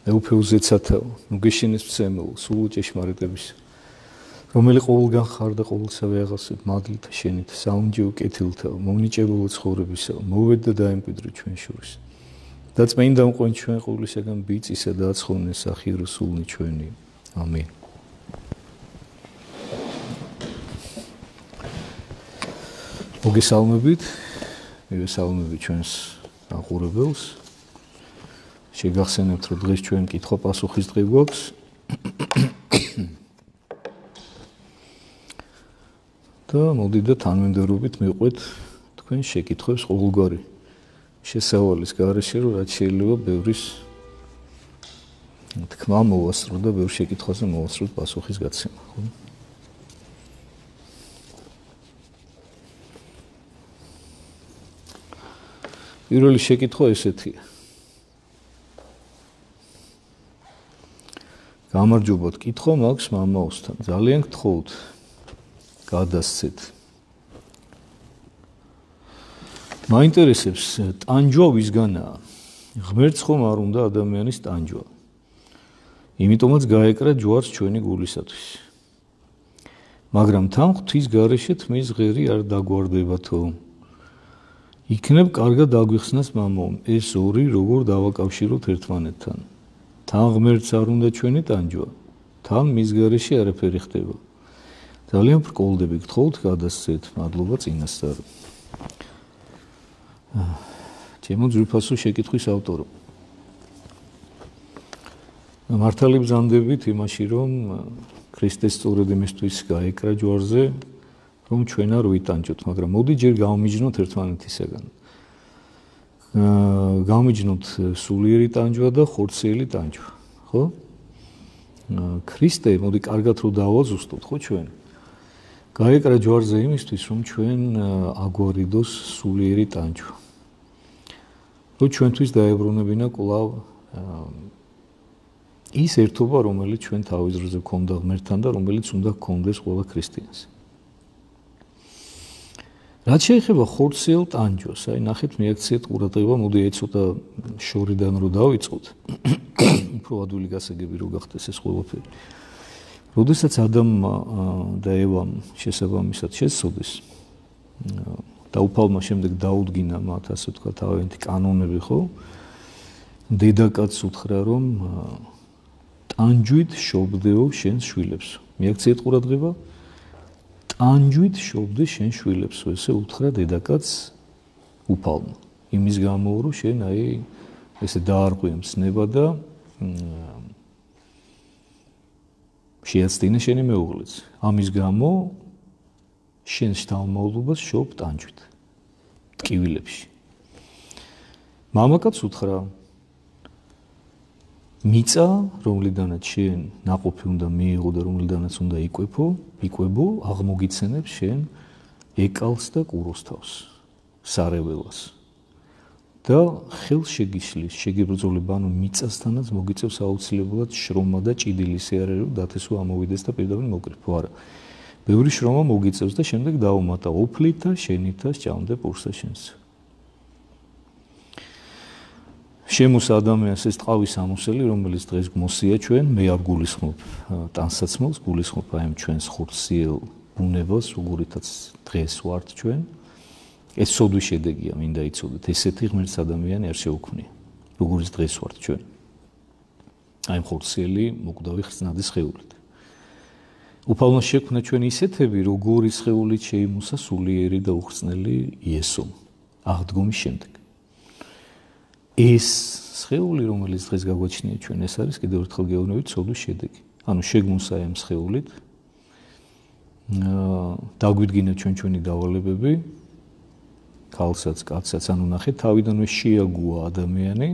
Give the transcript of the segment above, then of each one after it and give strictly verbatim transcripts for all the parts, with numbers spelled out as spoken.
ეუფეუზეცათავ, ნუ გეშინეს მცემულ, სულ ჭეშმარიტების, რომელი ყოველგან ხარ და ყოველსავე აღასვით მადლითა შენით, საუნჯეო კეთილთა, მომნიჭებულო ცხოვრებისა, მოვედ და დაემკვიდრო ჩვენ შორის. და წმინდა მყვენ ჩვენ ყოვლისაგან ბიწისა და აცხოვნე სახირო სულნი ჩვენი. ამინ. მოგესალმებით, მივესალმებით ჩვენს აყურებელს. შეგახსენებთ, რომ დღეს ჩვენ კითხვა-პასუხის დღე გვაქვს. და მოდი და თანმიმდევრობით მივყვეთ თქვენ შეკითხვებს ყოველგვარი შესავალის გარეშე, რომ რაც შეიძლება ბევრის თქმა მოვასწრო და ბევრ შეკითხვაზე მოვასწროთ პასუხის გაცემა, ხო? პირველი შეკითხვა ესეთია. გამარჯობათ, კითხვა მაქვს მამაოსთან. ძალიან გთხოვთ, გადასცეთ. მაინტერესებს ტანჯვა ვისგანაა? ღმერთს ხომ არ უნდა ადამიანის ტანჯვა. იმიტომაც გაეკრა ჯვარს ჩვენი გულისათვის. მაგრამ თან ღვთის გარეშე თმის ღერი არ დაგვარდებათო. იქნებ კარგად დაგვიხსნას მამაო, ეს ორი როგორ დავაკავშიროთ ერთმანეთთან. თან ღმერთს არ უნდა ჩვენი ტანჯვა, თან მის გარეშე არაფერი ხდება. ძალიან ბრკოლდები, გთხოვთ გადასცეთ. მადლობა წინასწარ. ჩემო ძვირფასო შეკითხვის ავტორო. მართალი ბრძანდებით იმაში, რომ ქრისტეს სწორედ იმისთვის გაეკრა ჯვარზე, რომ ჩვენ არ ვიტანჯოთ, მაგრამ მოდი ჯერ გავმიჯნოთ ერთმანეთისაგან. გავმიჯნოთ სულიერი ტანჯვა და ხორციელი ტანჯვა, ხო? ქრისტე, მოდი კარგად რომ დავაზუსტოთ, ხო ჩვენ? გაეკრა ჯვარზე იმისთვის, რომ ჩვენ აგვარიდოს სულიერი ტანჯვა. რომ ჩვენთვის დაებრუნებინა კვლავ ის ერთობა, რომელიც ჩვენ თავის დროზე გქონდა ღმერთთან და რომელიც უნდა გქონდეს ყველა ქრისტიანს. რაც შეეხება ხორციელ ტანჯვას, აი ნახეთ, მიაქციეთ ყურადღება, მოდი ეცოტა შორიდან რო დავიწყოთ. უფრო ადვილი გასაგები რო გახდეს ეს ყველაფერი. როდესაც ადამმა და ევამ შესაბამისად შეცოდეს და უფალმა შემდეგ დაუდგინა მათ, ასე ვთქვათ, თავიანთი კანონები, ხო? დედაკაცს უთხრა, რომ ტანჯვით შობდეო შენს შვილებს. მიაქციეთ ყურადღება, ტანჯვით შობდე შენ შვილებს, ესე უთხრა დედაკაცს უფალმა. იმის გამო, რომ შენ აი ესე დაარღვია მცნება და შეაცდინე შენი მეუღლეც. ამის გამო შენ შთამომავლობას შობ ტანჯვით ტკივილებში. მამაკაც უთხრა, მიწა, რომლიდანაც შენ ნაყოფი უნდა მიიღო და რომლიდანაც უნდა იკვეფო, იკვებო, აღმოგიცენებს შენ ეკალს და კუროს თავს, სარეველას. და ხელს შეგიშლის, შეგებრძოლება, ანუ მიწასთანაც მოგიწევს აუცილებლად შრომა და ჭიდილის ეარერი, რომ დათესვა ამოვიდეს და პირდაპირ მოკრიფო. არა. ბევრი შრომა მოგიწევს და შემდეგ დაუმატა ოფლით და შენით და სჭამდე პურსა შენს. შემოსა ადამიანს ეს ტყავის ამოსელი, რომელიც დღეს გმოსია ჩვენ, მე არ გულისხმობ ტანსაცმელს, გულისხმობ აი ამ ჩვენს ხორციელ ბუნებას, როგორითაც დღეს ვართ ჩვენ. ეს სოდვის შედეგია, მინდა იცოდეთ, ესეთი ღმერთს ადამიანი არ შეუქმნია, როგორც დღეს ვართ ჩვენ. აი ხორციელი მოკვდავი ხსნადის სხეულით. უფალმა შექმნა ჩვენ ისეთები, როგორი სხეულით შეიმოსა სულიერი და უხრწნელი იესომ აღდგომის შემდეგ. ეს სხეული, რომელიც დღეს გაგვაჩნია ჩვენ, ეს არის კიდევ ერთხელ გეუბნებით სოდვის შედეგი. ანუ შეგმოსა ამ სხეულით, დაგვიდგინა ჩვენ ჩვენი დავალებები, ქალსაც, კაცსაც, ანუ ნახეთ, თავიდანვე შეაგუა ადამიანი,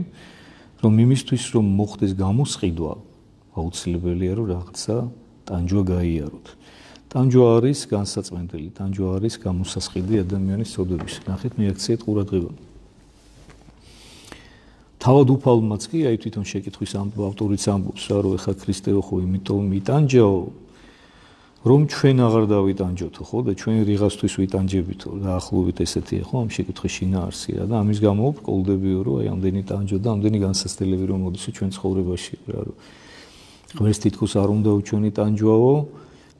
რომ იმისთვის, რომ მოხდეს გამოსყიდვა, აუცილებელია, რომ რაღაცა ტანჯვა გაიაროთ. ტანჯვა არის განსაწმენდელი, ტანჯვა არის გამოსასყიდი ადამიანის სოდების. ნახეთ, მიაქციეთ ყურადღება. თავად უფალმაც კი, აი თვითონ შეკითხვის ავტორიც ამბობს, რომ ეხა ქრისტეო ხო იმიტომ მიტანჯაო, რომ ჩვენ აღარ დავიტანჯოთო, ხო და ჩვენ რიღასთვის ვიტანჯებითო, დაახლოებით ესეთია, ხო, ამ შეკითხვის შინაარსია და ამის გამო ვყოლდებიო, რომ აი ამდენი ტანჯო და ამდენი განსაცდელები რომ მოდის ჩვენ ცხოვრებაში, რა რომ ღმერთს თითქოს არ უნდა უჩვენი ტანჯვაო,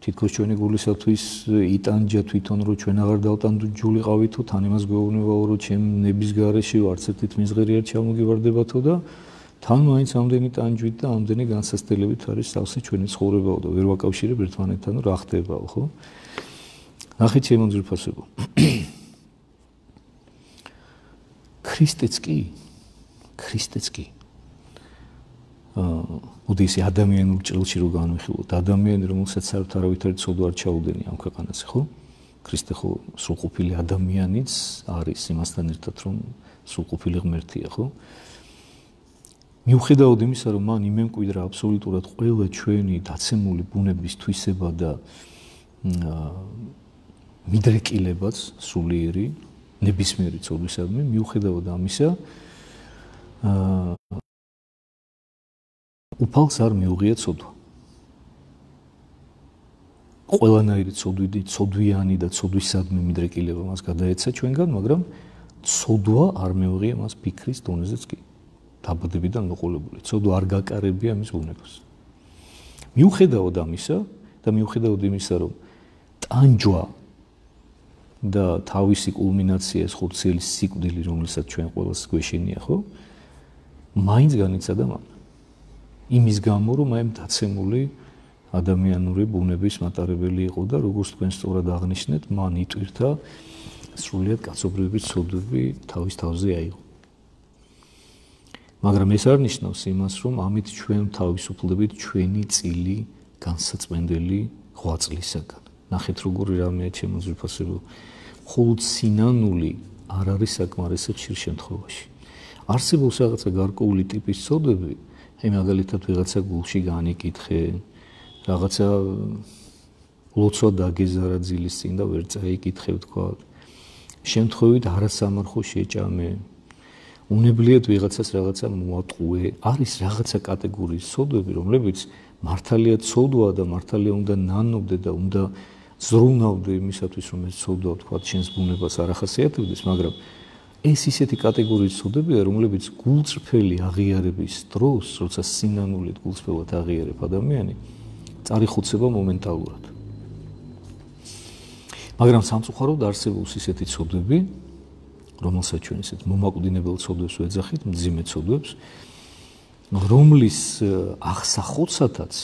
თითქოს ჩვენი გულისათვის იტანჯა თვითონ რომ ჩვენ აღარ დავტანჯულიყავითო, თან იმას გვეუბნებაო, რომ ჩემ ნების გარეშე არც ერთი თმისღერი არ ჩამოგივარდებათო და თან მაინც ამდენი ტანჯვით და ამდენი განსაცდელებით არის სავსე ჩვენი ცხოვრებაო და ვერ ვაკავშირებ ერთმანეთთან, რა ხდებაო, ხო? ნახეთ ჩემო ძვირფასებო. ქრისტეც კი, ქრისტეც კი. აა უდისი ადამიანურ ჭრილში რო განვიხილოთ, ადამიანი რომელსაც საერთოდ არავითარი ცოდვა არ ჩაუდენია ამ ქვეყანაზე, ხო? ქრისტე ხო სრულყოფილი ადამიანიც არის იმასთან ერთად, რომ სრულყოფილი ღმერთია, ხო? მიუხედავად იმისა, რომ მან იმემკვიდრა აბსოლუტურად ყველა ჩვენი დაცემული ბუნების თვისება და მიდრეკილებაც სულიერი ნებისმიერი ცოდვისადმი, მიუხედავად ამისა, უფალს არ მიუღია ცოდვა. ყველანაირი ცოდვიდი, ცოდვიანი და ცოდვისადმი მიდრეკილება მას გადაეცა ჩვენგან, მაგრამ ცოდვა არ მიუღია მას ფიქრის დონეზეც კი. დაბადებიდან მოყოლებული. ცოდვა არ გაკარებია მის ბუნებას. მიუხედავად ამისა და მიუხედავად იმისა, რომ ტანჯვა და თავისი კულმინაცია ეს ხორციელი სიკვდილი, რომელსაც ჩვენ ყველას გვეშინია, ხო? მაინც განიცადა მან. იმის გამო, რომ აი დაცემული ადამიანური ბუნების მატარებელი იყო და როგორც თქვენ სწორად აღნიშნეთ, მან იტვირთა სრულიად კაცობრიობის ცოდვები თავის თავზე აიღო. მაგრამ ეს არ ნიშნავს იმას, რომ ამით ჩვენ თავისუფლდებით ჩვენი წილი განსაწმენდელი ღვაწლისაგან. ნახეთ როგორი რამეა ჩემო ძვირფასებო. მხოლოდ სინანული არ არის საკმარისი ხშირ შემთხვევაში. არსებობს რაღაცა გარკვეული ტიპის ცოდვები, აი მაგალითად ვიღაცა გულში განიკითხე, რაღაცა ლოცვა დაგეზარა ძილის წინ და ვერ წაიკითხე თქვა. შემთხვევით არასამარხო შეჭამე. უნებლიეთ ვიღაცას რაღაცა მოატყუე, არის რაღაცა კატეგორიის ცოდვები, რომლებიც მართალია ცოდვა და მართალია უნდა ნანობდე და უნდა ზრუნავდე იმისათვის, რომ ეს ცოდვა თქვა შენს ბუნებას არ ახასიათებდეს, მაგრამ ეს ისეთი კატეგორიის ცოდებია, რომლებიც გულწრფელი აღიარების დროს, როცა სინანულით გულწრფელად აღიარებ ადამიანი, წარიხოცება მომენტალურად. მაგრამ სამწუხაროდ არსებობს ისეთი ცოდვები, რომელსაც ჩვენ ისეთ მომაკვდინებელ ცოდვებს ვეძახით, მძიმე ცოდვებს, რომლის აღსახოცათაც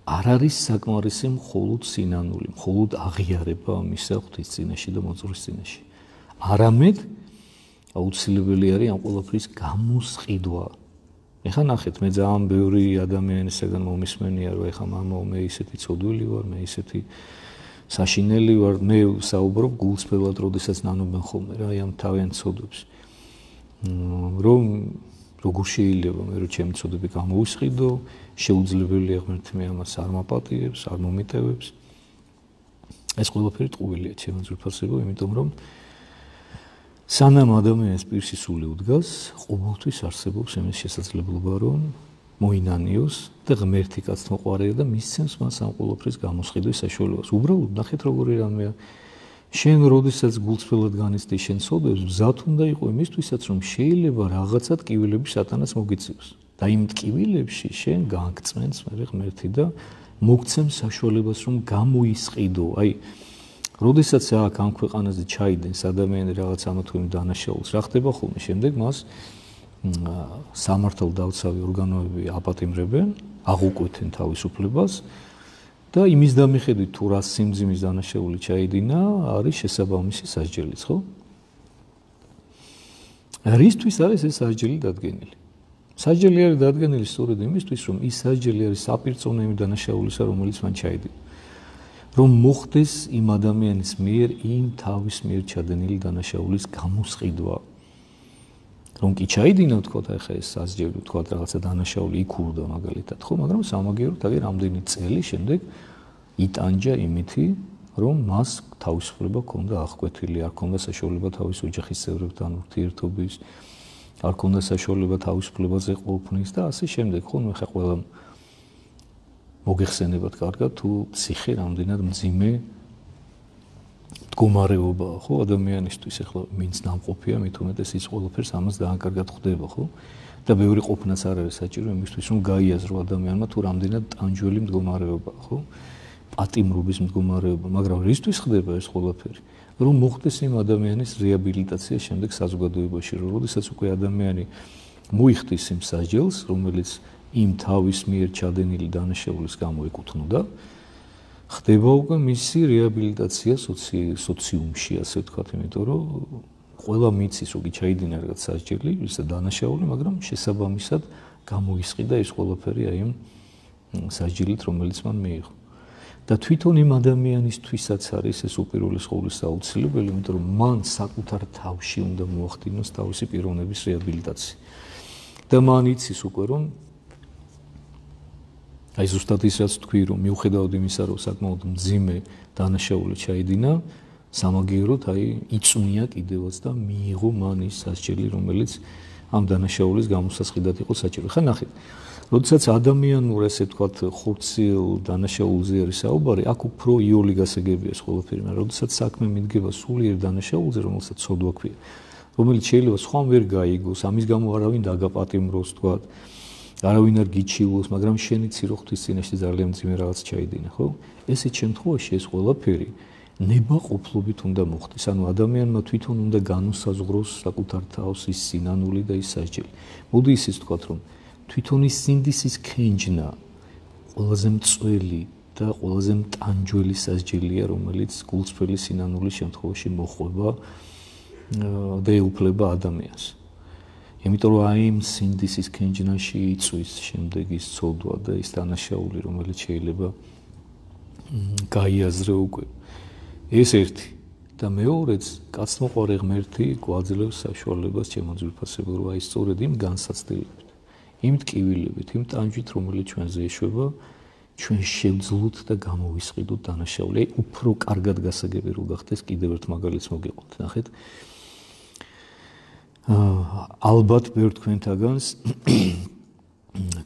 არ არის საკმარისი მხოლოდ სინანული, მხოლოდ აღიარება ამისა ღვთის წინაშე და მოძღვრის წინაშე. არამედ აუცილებელი არის ამ ყველაფრის გამოსყიდვა. ეხლა ნახეთ, მე ძალიან ბევრი ადამიანისაგან მომისმენია, რომ ეხლა მამაო, მე ისეთი ცოდვილი ვარ, მე ისეთი საშინელი ვარ, მე საუბრობ გულწრფელად, როდესაც ნანობენ ხოლმე რა ამ თავიანთ ცოდვებს. რომ როგორ შეიძლება მე რომ ჩემი ცოდვები გამოვისყიდო, შეუძლებელია ღმერთი მე ამას არ მაპატიებს, არ მომიტევებს. ეს ყველაფერი ტყუილია ჩემო ძვირფასებო, იმიტომ რომ სანამ ადამიანის პირში სული უდგას, ყოველთვის არსებობს იმის შესაძლებლობა, რომ მოინანიოს და ღმერთი კაცთმოყვარეა და მისცემს მას ამ ყოველფრის გამოსყიდვის საშუალებას. უბრალოდ ნახეთ როგორი რამეა. შენ როდესაც გულწრფელად განიცდი შენ ცოდვებს, მზად უნდა იყო იმისთვისაც, რომ შეიძლება რაღაცა ტკივილები სატანას მოგიწევს. და იმ ტკივილებში შენ გაგწმენს მე ღმერთი და მოგცემს საშუალებას, რომ გამოისყიდო. აი როდესაც აქ ამ ქვეყანაზე ჩაიდენს ადამიანი რაღაც ამათქვენი დანაშაულს, რა ხდება ხოლმე? შემდეგ მას სამართალდაცავი ორგანოები აპატიმრებენ, აღუკვეთენ თავისუფლებას და იმის დამიხედვით თუ რა სიმძიმის დანაშაული ჩაიდინა, არის შესაბამისი სასჯელიც, ხო? რისთვის არის ეს სასჯელი დადგენილი? სასჯელი არის დადგენილი სწორედ იმისთვის, რომ ის სასჯელი არის საპირწონო იმ დანაშაულისა, რომელიც მან ჩაიდინა. რომ მოხდეს იმ ადამიანის მიერ იმ თავის მიერ ჩადენილი დანაშაულის გამოსყიდვა. რომ კი ჩაიდინა თქვა ახლა ეს სასჯელი თქვა რაღაცა დანაშაული იქურდა მაგალითად, ხო, მაგრამ სამაგიეროდ აი რამდენი წელი შემდეგ იტანჯა იმითი, რომ მას თავისუფლება ჰქონდა აღკვეთილი, არ ჰქონდა საშუალება თავის ოჯახის წევრებთან ურთიერთობის, არ ჰქონდა საშუალება თავისუფლებაზე ყოფნის და ასე შემდეგ, ხო, ნუ ახლა ყველა მოგეხსენებათ კარგად თუ ციხე რამდენად მძიმე მდგომარეობაა, ხო, ადამიანისთვის ახლა ვინც ნამყოფია, მით უმეტეს ის ყველაფერს ამას დაანკარგად ხვდება, ხო? და ბევრი ყოფნაც არ არის საჭირო იმისთვის, რომ გაიაზრო ადამიანმა თუ რამდენად ტანჯველი მდგომარეობაა, ხო? პატიმრობის მდგომარეობა, მაგრამ რისთვის ხდება ეს ყველაფერი? რომ მოხდეს იმ ადამიანის რეაბილიტაცია შემდეგ საზოგადოებაში, რომ როდესაც უკვე ადამიანი მოიხდის იმ სასჯელს, რომელიც იმ თავის მიერ ჩადენილი დანაშაულის გამო ეკუთვნოდა, ხდება უკვე მისი რეაბილიტაცია სოციუმში, ასე ვთქვათ, იმიტომ რომ ყველა მიცის, რომ ჩაიდინა რაღაც სასჯელი, ისა დანაშაული, მაგრამ შესაბამისად გამოისყიდა ეს ყველაფერი აი იმ სასჯელით, რომელიც მან მიიღო. და თვითონ იმ ადამიანისთვისაც არის ეს უპირველეს ყოვლისა აუცილებელი, იმიტომ რომ მან საკუთარ თავში უნდა მოახდინოს თავისი პიროვნების რეაბილიტაცია. და მან იცის უკვე რომ აი ზუსტად ის რაც თქვი რომ მიუხედავად იმისა რომ საკმაოდ მძიმე დანაშაული ჩაიდინა სამაგიეროდ აი იწვნია კიდევაც და მიიღო მან ის სასჯელი რომელიც ამ დანაშაულის გამოსასყიდად იყო საჭირო. ხა ნახეთ როდესაც ადამიანურ ესე ვთქვათ ხურციელ დანაშაულზე არის საუბარი, აქ უფრო იოლი გასაგებია ეს ყველაფერი, მაგრამ როდესაც საქმე მიდგება სულიერ დანაშაულზე, რომელსაც ცოდვა ქვია, რომელიც შეიძლება სხვამ ვერ გაიგოს, ამის გამო არავინ დაგაპატიმროს, ვთქვათ, არავინ არ გიჩივლოს, მაგრამ შენი ცირო ღვთის წინაშე ძალიან მძიმე რაღაც ჩაიდინა, ხო? ესეთ შემთხვევაში ეს ყველაფერი ნებაყოფლობით უნდა მოხდეს. ანუ ადამიანმა თვითონ უნდა განუსაზღვროს საკუთარ თავს ის სინანული და ის სასჯელი. მოდი ისიც ვთქვათ, რომ თვითონ ის სინდისის ქენჯნა ყველაზე მწველი და ყველაზე მტანჯველი სასჯელია, რომელიც გულწრფელი სინანულის შემთხვევაში მოხვება და ეუფლება ადამიანს. იმიტომ რომ აი იმ სინდისის ქენჯნაში იწვის შემდეგ ის ცოდვა და ის დანაშაული, რომელიც შეიძლება გაიაზრე უკვე. ეს ერთი და მეორეც კაცმოყვარე ღმერთი გვაძლევს საშუალებას ჩემო ძვირფასებო, რომ აი სწორედ იმ განსაცდელებით იმ ტკივილებით, იმ ტანჯვით, რომელიც ჩვენზე ეშვება, ჩვენ შევძლოთ და გამოვისყიდოთ დანაშაული. აი უფრო კარგად გასაგები რო გახდეს, კიდევ ერთ მაგალითს მოგიყვანთ. ნახეთ. ალბათ ბევრ თქვენთაგანს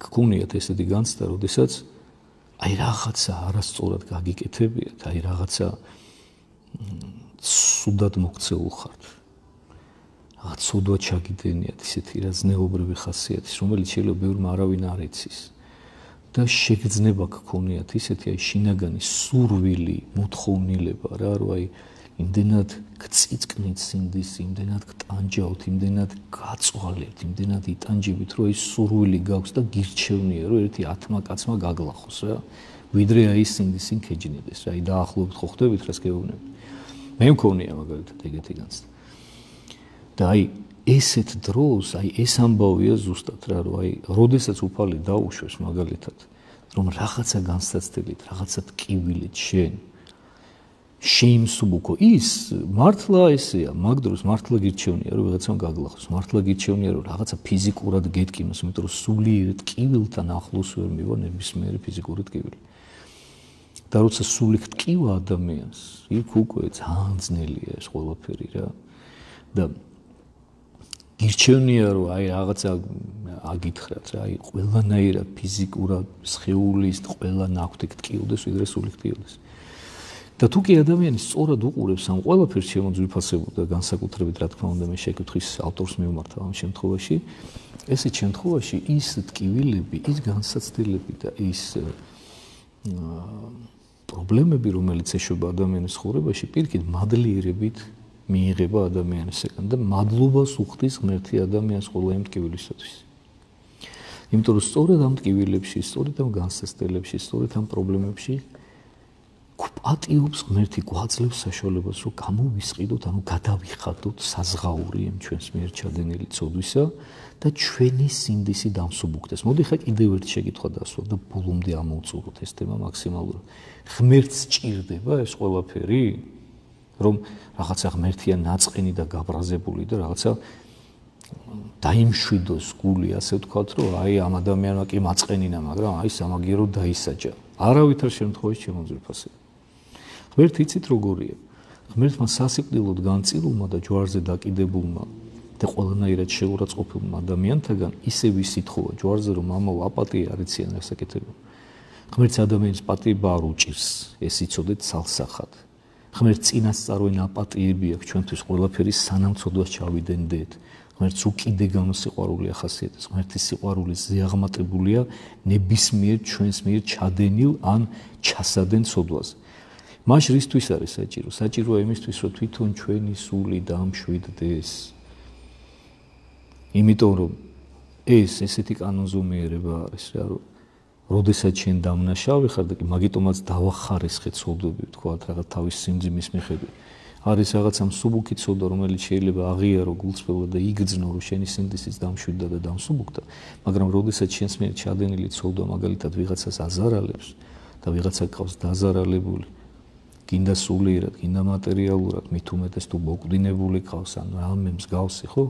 გქონიათ ესეთი განცდა, როდესაც აი რაღაცა არასწორად გაგიკეთებიათ, აი რაღაცა სუდად მოქცეულ ხართ. რაღაც სოდვა ჩაგიდენიათ ისეთი რა ზნეობრივი ხასიათის, რომელიც შეიძლება ბევრმა არავინ არ იცის. და შეგრძნება გქონიათ ისეთი აი შინაგანი სურვილი, მოთხოვნილება რა, რომ აი იმდენად გწიწკნით სინდისი, იმდენად გტანჯავთ, იმდენად გაწვალებთ, იმდენად იტანჯებით, რომ ის სურვილი გაქვს და გირჩევნია, რომ ერთი ათმა კაცმა გაგლახოს რა. ვიდრე აი სინდისი ქეჯნიდეს რა, აი დაახლოებით ხო ხვდებით რას გეუბნებით. მე მქონია მაგალითად ეგეთი განცდა. და აი ესეთ დროს, აი ეს ამბავია ზუსტად რა, რომ აი როდესაც უფალი დაუშვეს მაგალითად, რომ რაღაცა განსაცდელით, რაღაცა ტკივილით შენ შეიმსუბუქო ის მართლა ესეა, მაგ დროს მართლა გირჩევნია, რომ ვიღაცამ გაგლახოს, მართლა გირჩევნია, რომ რაღაცა ფიზიკურად გეტკიმოს, იმიტომ რომ სულიერ ტკივილთან ახლოს ვერ მივა ნებისმიერი ფიზიკური ტკივილი. და როცა სული გტკივა ადამიანს, იქ უკვე ძალიან ძნელია ეს ყველაფერი რა. და გირჩევნია, რომ აი რაღაცა აგითხრათ რა, აი ყველანაირად ფიზიკურად სხეულის ყველა ნაკვთი გტკიوده, ვიდრე სული გტკიوده. და თუ კი ადამიანი სწორად უყურებს ამ ყველაფერს ჩემო ძვირფასებო და განსაკუთრებით რა თქმა უნდა მე შეკითხვის ავტორს მივმართავ ამ შემთხვევაში, ესეთ შემთხვევაში ის ტკივილები, ის განსაცდელები და ის პრობლემები, რომელიც ეშვება ადამიანის ცხოვრებაში, პირიქით მადლიერებით მიიღება ადამიანისგან და მადლობას უხდის ღმერთი ადამიანს ყველა იმ ტკივილისათვის. იმიტომ რომ სწორედ ამ ტკივილებში, სწორედ ამ განსაცდელებში, სწორედ ამ პრობლემებში პატიობს ღმერთი, გვაძლევს საშუალებას, რომ გამოვისყიდოთ, ანუ გადავიხადოთ საზღაური იმ ჩვენს მიერ ჩადენილი ცოდვისა და ჩვენი სინდისი დამსუბუქდეს. მოდი ხა კიდევ ერთ შეკითხვა დასვა და ბოლომდე ამოვწუროთ ეს თემა მაქსიმალურად. ღმერთს ჭირდება ეს ყველაფერი, რომ რაღაცა ღმერთია ნაწყენი და გაბრაზებული და რაღაცა დაიმშვიდოს გული, ასე ვთქვათ, რომ აი ამ ადამიანმა კი მაწყენინა, მაგრამ აი სამაგიეროდ დაისაჯა. არავითარ შემთხვევაში ჩემო ძვირფასებო. ღმერთი იცით როგორია? ღმერთმა სასიკვდილოდ განწილულმა და ჯვარზე დაკიდებულმა და ყველანაირად შეურაცხყოფილმა ადამიანთაგან ისევ ისითხოვა ჯვარზე, რომ ამაო აპატია არ იციან ეს საკეთება. ღმერთს ადამიანის პატიება არ უჭირს, ეს იცოდეთ სალსახად. ღმერთს წინასწარვე ნაპატიები აქვს ჩვენთვის ყველაფერი სანამ ცოდვას ჩავიდენდეთ. ღმერთს უკიდეგანო სიყვარული ახასიათებს. ღმერთის სიყვარული ზეაღმატებულია ნებისმიერ ჩვენს მიერ ჩადენილ ან ჩასადენ ცოდვაზე. მას რისთვის არის საჭირო? საჭიროა იმისთვის, რომ თვითონ ჩვენი სული დამშვიდდეს. იმიტომ რომ ეს ესეთი კანონზომიერება არის რა, რომ როდესაც შენ დამნაშავე ხარ და კი მაგიტომაც დავახარესხე ცოდვები, თქვა რაღაც თავის სიმძიმის მიხედვით. არის რაღაცა მსუბუქი ცოდვა, რომელიც შეიძლება აღიარო გულწრფელად და იგრძნო, რომ შენი სინდისიც დამშვიდდა და დამსუბუქდა, მაგრამ როდესაც შენს მიერ ჩადენილი ცოდვა მაგალითად ვიღაცას აზარალებს და ვიღაცა გყავს დაზარალებული, გინდა სულიერად, გინდა მატერიალურად, მით უმეტეს თუ მოკვდინებული გყავს ან რამე მსგავსი, ხო?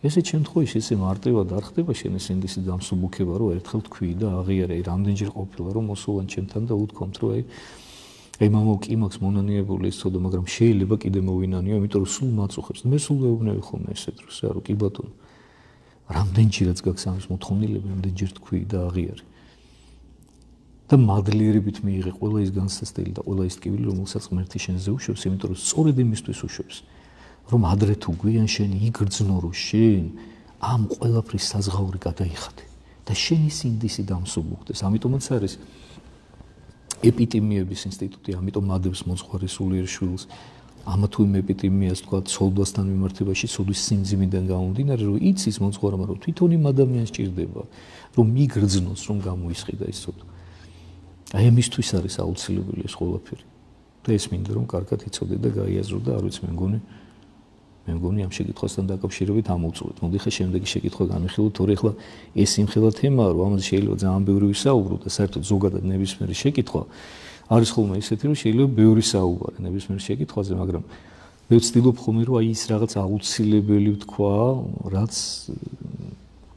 ესეთ შემთხვევაში ესე მარტივად არ ხდება შენი სინდისის დამსუბუქება, რომ ერთხელ თქვი და აღიარე, რამდენჯერ ყოფილა რომ მოსულან ჩემთან და უთქვამთ, რომ აი აი მამაო კი მაქვს მონანიებული ეს ცოდვა, მაგრამ შეიძლება კიდე მოვინანიო, იმიტომ რომ სულ მაწუხებს. მე სულ ვეუბნები ხოლმე ესეთ დროს, რა რომ კი ბატონო. რამდენჯერაც გაქვს ამის მოთხოვნილება, რამდენჯერ თქვი და აღიარე. და მადლიერებით მიიღე ყველა ის განსასწრელი და ყველა ის ტკივილი, რომელსაც ღმერთი შენზე უშვებს, იმიტომ რომ სწორედ იმისთვის უშვებს, რომ ადრე თუ გვიან შენ იგრძნო, რომ შენ ამ ყველაფრის საზღაური გადაიხადე და შენი სინდისი დამსუბუქდეს. ამიტომაც არის ეპიტიმიების ინსტიტუტი, ამიტომ მადებს მოძღვარი სულიერ შვილს, ამა თუ იმ ეპიტიმიას თქვა ცოდვასთან მიმართებაში, ცოდვის სიმძიმიდან გამომდინარე, რომ იცის მოძღვარმა, რომ თვითონ იმ ადამიანს ჭირდება, რომ მიგრძნოს, რომ გამოისყიდა ის ცოდვა. აი ამისთვის არის აუცილებელი ეს ყველაფერი. და ეს მინდა რომ კარგად იცოდე და გაიაზრო და არ ვიცი მე მგონი მე მგონი ამ შეკითხვასთან დაკავშირებით ამოვწურეთ. მოდი ხე შემდეგი შეკითხვა განვიხილოთ, თორე ახლა ეს იმხელა თემაა, რომ ამაზე შეიძლება ძალიან ბევრი ვისაუბრო და საერთოდ ზოგადად ნებისმიერი შეკითხვა არის ხოლმე ისეთი, რომ შეიძლება ბევრი საუბარი ნებისმიერ შეკითხვაზე, მაგრამ მე ვცდილობ ხოლმე, რომ აი ის რაღაც აუცილებელი ვთქვა, რაც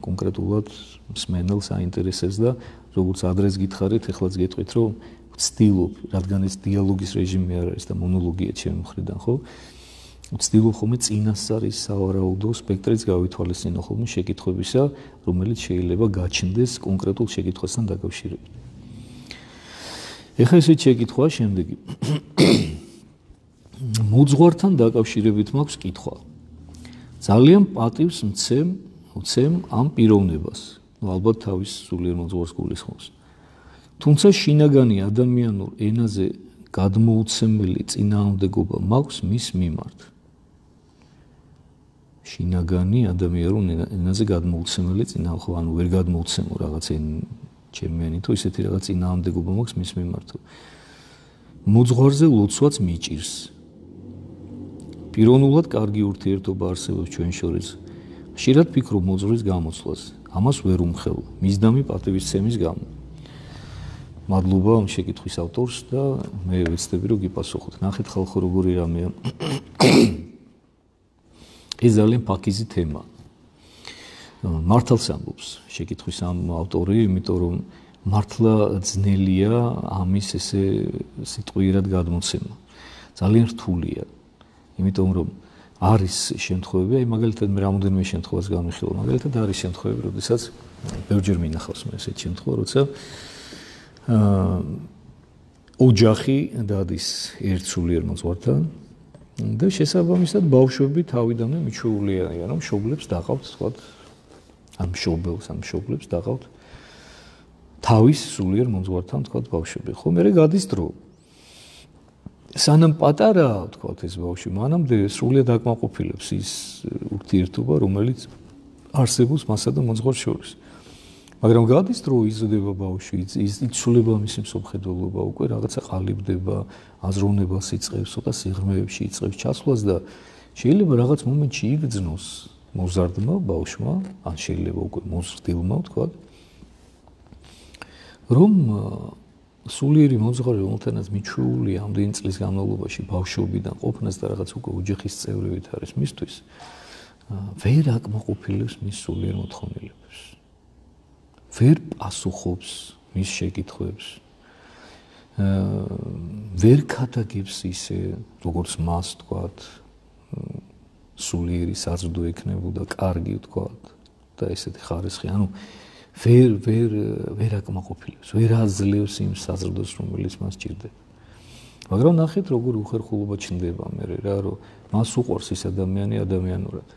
კონკრეტულად მსმენელს აინტერესებს და როგორც ადრეს გითხარით, ეხლაც გეტყვით, რომ ვცდილობ, რადგან ეს დიალოგის რეჟიმი არ არის და მონოლოგია ჩემი მხრიდან, ხო? ვცდილობ ხოლმე წინასწარ ის სავარაუდო სპექტრიც გავითვალისწინო ხოლმე შეკითხვებისა, რომელიც შეიძლება გაჩნდეს კონკრეტულ შეკითხვასთან დაკავშირებით. ეხლა ესეთი შეკითხვაა შემდეგი. მოძღვართან დაკავშირებით მაქვს კითხვა. ძალიან პატივს მცემ, მცემ ამ პიროვნებას. ნუ ალბათ თავის სულიერ მოძღვარს გულისხმობს. თუმცა შინაგანი ადამიანურ ენაზე გადმოუცემელი წინააღმდეგობა მაქვს მის მიმართ. შინაგანი ადამიანურ ენაზე გადმოუცემელი წინააღმდეგობა, ანუ ვერ გადმოუცემო რაღაც ჩემიანი თუ ისეთი რაღაც წინააღმდეგობა მაქვს მის მიმართ. მოძღვარზე ლოცვაც მიჭირს. პიროვნულად კარგი ურთიერთობა არსებობს ჩვენ შორის. ხშირად ფიქრობ მოძღვრის გამოცვლას. ამას ვერ უმხელ, მისდამი პატივისცემის გამო. მადლობა ამ შეკითხვის ავტორს და მე ვეცდები რომ გიპასუხოთ. ნახეთ ხალხო როგორი რამეა. ეს ძალიან ფაქიზი თემაა. მართალს ამბობს შეკითხვის ამ ავტორი, იმიტომ რომ მართლა ძნელია ამის ესე სიტყვიერად გადმოცემა. ძალიან რთულია. იმიტომ რომ არის შემთხვევები, აი მაგალითად მე რამოდენიმე შემთხვევას განვიხილავ. მაგალითად არის შემთხვევები, როდესაც ბევრჯერ მინახავს მე ესეთი შემთხვევა, როცა აა ოჯახი დადის ერთ სულიერ მოძღვართან და შესაბამისად ბავშვები თავიდანვე მიჩვეულია, რომ მშობლებს დაყავთ, თქვა, ან მშობელს, ან მშობლებს დაყავთ თავის სულიერ მოძღვართან, თქვა, ბავშვები. ხო, მერე გადის დრო. სანამ პატარაა, თქვა, ეს ბავშვი, მანამდე სრულიად აკმაყოფილებს ის ურთიერთობა, რომელიც არსებობს მასა და მოძღვარს შორის. მაგრამ გადის დრო, იზრდება ბავშვი, იცვლება მისი მსოფლმხედველობა, უკვე რაღაცა ყალიბდება, აზროვნებას იწყებს, ცოტა სიღრმეებში იწყებს ჩასვლას და შეიძლება რაღაც მომენტში იგრძნოს მოზარდმა ბავშვმა, ან შეიძლება უკვე მოზრდილმა, თქვა, რომ სულიერი მოძღვარი, რომელთანაც მიჩვეულია ამდენი წლის განმავლობაში ბავშვობიდან ყოფნას და რაღაც უკვე ოჯახის წევრებით არის მისთვის, ვერ აკმაყოფილებს მის სულიერ მოთხოვნილებებს. ვერ პასუხობს მის შეკითხვებს. ვერ ქადაგებს ისე, როგორც მას, თქვათ, სულიერი საზრდო ექნებოდა, კარგი, თქვათ, და ესეთი ხარისხი. ანუ ვერ ვერ ვერ აკმაყოფილებს, ვერ აძლევს იმ საზრდოს, რომელიც მას ჭირდება. მაგრამ ნახეთ, როგორ უხერხულობა ჩნდება მე რა, რომ მას უყვარს ის ადამიანი ადამიანურად.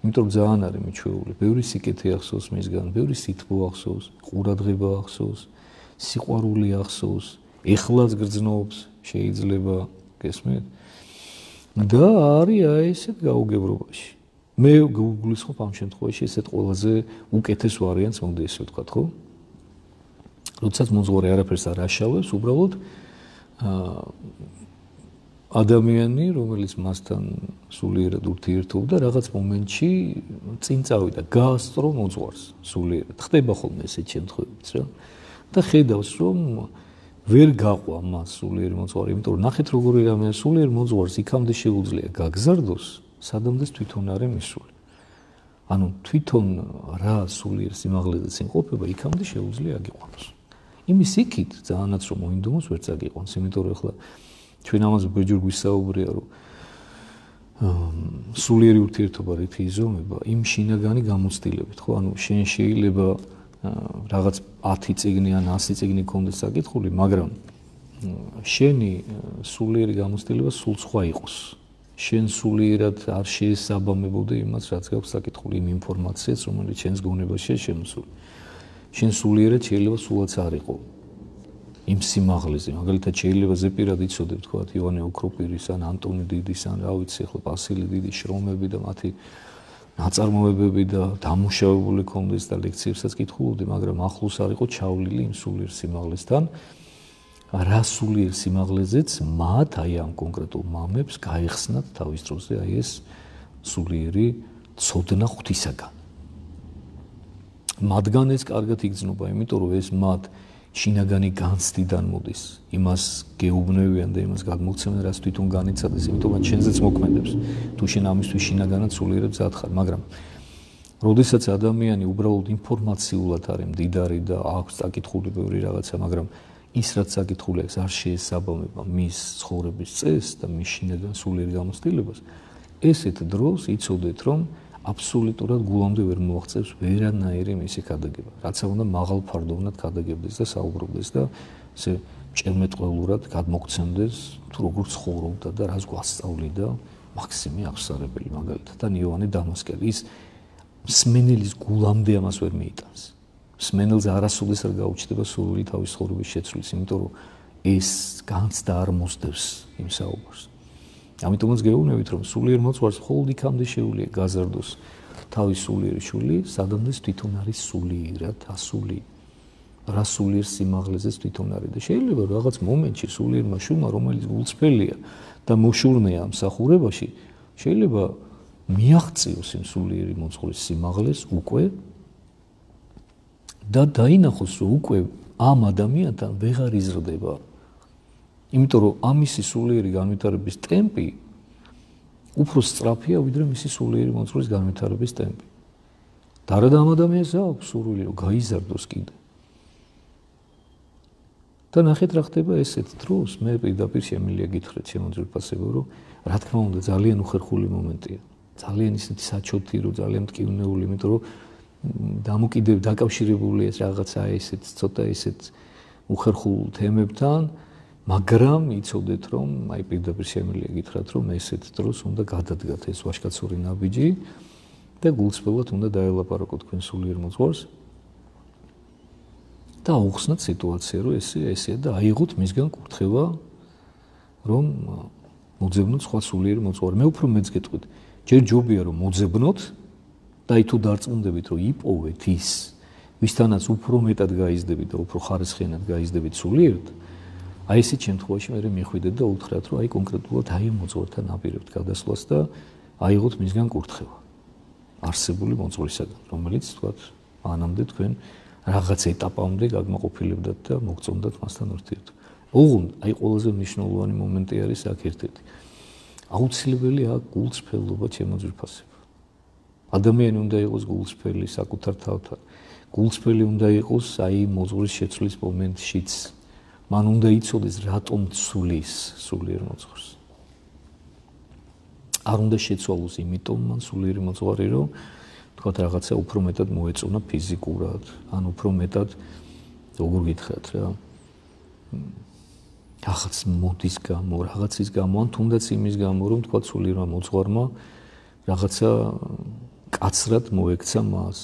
იმიტომ რომ ძალიან არის მიჩვეული, ბევრი სიკეთე ახსოვს მისგან, ბევრი სითბო ახსოვს, ყურადღება ახსოვს, სიყვარული ახსოვს, ეხლაც გრძნობს, შეიძლება გესმით? და არის აი ესეთ გაუგებრობაში. მე გულისხმობ ამ შემთხვევაში ესეთ ყველაზე უკეთეს ვარიანტს, მოდი ესე ვთქვათ, ხო? როდესაც მოძღვარი არაფერს არ აშავებს, უბრალოდ აა ადამიანი, რომელიც მასთან სულიერად ურთიერთობდა, რაღაც მომენტში წინ წავიდა, გაასწრო მოძღვარს სულიერად. ხდება ხოლმე ესეთ შემთხვევებიც რა. და ხედავს, რომ ვერ გაყვა მას სულიერი მოძღვარი, იმიტომ რომ ნახეთ როგორი რამეა, სულიერ მოძღვარს იქამდე შეუძლია გაგზარდოს, სადამდეც თვითონ არის მისული. ანუ თვითონ რა სულიერ სიმაღლეზე იმყოფება, იქამდე შეუძლია აგიყვანოს. იმის იქით ძალიანაც რომ მოინდომოს, ვერც აგიყვანს, იმიტომ რომ ახლა ჩვენ ამაზე ბეჯორ გვისაუბრია, რომ სულიერი ურთიერთობა რითი იზომება, იმ შინაგანი გამოცდილებით, ხო? ანუ შენ შეიძლება რაღაც ათი წიგნი ან ასი წიგნი გქონდეს საკითხული, მაგრამ შენი სულიერი გამოცდილება სულ სხვა იყოს. შენ სულიერად არ შეესაბამებოდე იმას, რაც გაქვს საკითხული, იმ ინფორმაციას, რომელიც შენს გონებაშია შემოსული. შენ სულიერად შეიძლება სულაც არ იყო იმ სიმაღლეზე. მაგალითად შეიძლება ზეპირად იცოდებ, თქვათ, ივანე ოქროპირის ან ანტონი დიდის ან რა ვიცი, ახლა ბასილი დიდის შრომები და მათი ნაწარმოებები და დამუშავებული კონდეს და ლექციებსაც კითხულობდი, მაგრამ ახლოს არ იყო ჩავლილი იმ სულიერ სიმაღლესთან. რა სულიერ სიმაღლეზეც მათ აი ამ კონკრეტულ მამებს გაიხსნათ თავის დროზე აი ეს სულიერი ცოდნა ღვთისაგან. მათგან ეს კარგად იგრძნობა, იმიტომ რომ ეს მათ შინაგანი განცდიდან მოდის, იმას გეუბნევიან და იმას გადმოგცემენ, რაც თვითონ განიცადეს, იმიტომ რომ შენზეც მოქმედებს. თუ შენ ამისთვის შინაგანად სულიერად მზად ხარ, მაგრამ როდესაც ადამიანი უბრალოდ ინფორმაციულად არის მდიდარი და აქვს საკითხული ბევრი რაღაცა, მაგრამ ის რაც საკითხული აქვს არ შეესაბამება მის ცხოვრების წესს და მის შინაგან სულიერ გამოცდილებას, ესეთ დროს იცოდეთ, რომ აბსოლუტურად გულამდე ვერ მოაღწევს ვერანაირი მისი ქადაგება. რაც უნდა მაღალ ფარდოვნად ქადაგებდეს და საუბრობდეს და ესე ჭერმეტყველურად გადმოგცემდეს თუ როგორ ცხოვრობდა და რას გვასწავლიდა მაქსიმე აღსარებელი მაგალითად და იოანე დამასკელი. ის მსმენელის გულამდე ამას ვერ მიიტანს. მსმენელს არასოდეს არ გაუჩნდება სურვილი თავის ცხოვრების შეცვლის, იმიტომ რომ ეს განცდა არ მოსდევს იმ საუბარს. ამიტომაც გეუბნებით, რომ სულიერ მოძღვარს მხოლოდ იქამდე შეუძლია გაზარდოს თავის სულიერი შვილი, სადამდეც თვითონ არის სულიერად ასული. რა სულიერ სიმაღლეზეც თვითონ არის და შეიძლება რაღაც მომენტში სულიერმა შვილმა, რომელიც გულწრფელია და მოშურნეა ამ მსახურებაში, შეიძლება მიაღწიოს იმ სულიერი მოძღვრის სიმაღლეს უკვე და დაინახოს, რომ უკვე ამ ადამიანთან ვეღარ იზრდება. იმიტომ რომ ამისი სულიერი განვითარების ტემპი უფრო სწრაფია, ვიდრე მისი სულიერი მოძღვრის განვითარების ტემპი. და რა და ამ ადამიანს აქვს სურვილი, რომ გაიზარდოს კიდე. და ნახეთ რა ხდება ესეთ დროს, მე პირდაპირ შემიძლია გითხრათ შემოძვირფასებო, რომ რა თქმა უნდა ძალიან უხერხული მომენტია. ძალიან ისეთი საჩოთი, რომ ძალიან მტკივნეული, იმიტომ რომ დამოკიდებ დაკავშირებულია ეს რაღაცა ესეთ ცოტა ესეთ უხერხულ თემებთან, მაგრამ იცოდეთ, რომ აი პირდაპირ შემიძლია გითხრათ, რომ ესეთ დროს უნდა გადადგათ ეს ვაჟკაცური ნაბიჯი და გულწრფელად უნდა დაელაპარაკოთ თქვენ სულიერ მოძღვარს და აუხსნათ სიტუაცია, რომ ესე ესეა და აიღოთ მისგან კურთხევა, რომ მოძებნოთ სხვა სულიერ მოძღვარი. მე უფრო მეც გეტყვით, ჯერ ჯობია რომ მოძებნოთ და აი თუ დარწმუნდებით, რომ იპოვეთ ის, ვისთანაც უფრო მეტად გაიზრდებით და უფრო ხარისხიანად გაიზრდებით სულიერად, აი ესეთ შემთხვევაში მე მიხვიდეთ და უთხრათ, რომ აი კონკრეტულად აი მოძღვართან აპირებთ გადასვლას და აიღოთ მისგან კურთხევა არსებული მოძღვრისაგან, რომელიც თქვათ მანამდე თქვენ რაღაც ეტაპამდე გაგმაყოფილებდათ და მოგწონდათ მასთან ურთიერთობა. ოღონდ აი ყველაზე მნიშვნელოვანი მომენტი არის აქ ერთ-ერთი. აუცილებელია გულწრფელობა შემოძვირფასება. ადამიანი უნდა იყოს გულწრფელი საკუთარ თავთან. გულწრფელი უნდა იყოს აი მოძღვრის შეცვლის მომენტშიც. მან უნდა იცოდეს რატომ ცვლის სულიერ მოძღვარს. არ უნდა შეცვალოს იმიტომ მან სულიერი მოძღვარი, რომ თქვათ რაღაცა უფრო მეტად მოეწონა ფიზიკურად, ან უფრო მეტად როგორ გითხრათ რა. რაღაც მოდის გამო, რაღაცის გამო, ან თუნდაც იმის გამო, რომ თქვათ სულიერმა მოძღვარმა რაღაცა კაცრად მოექცა მას.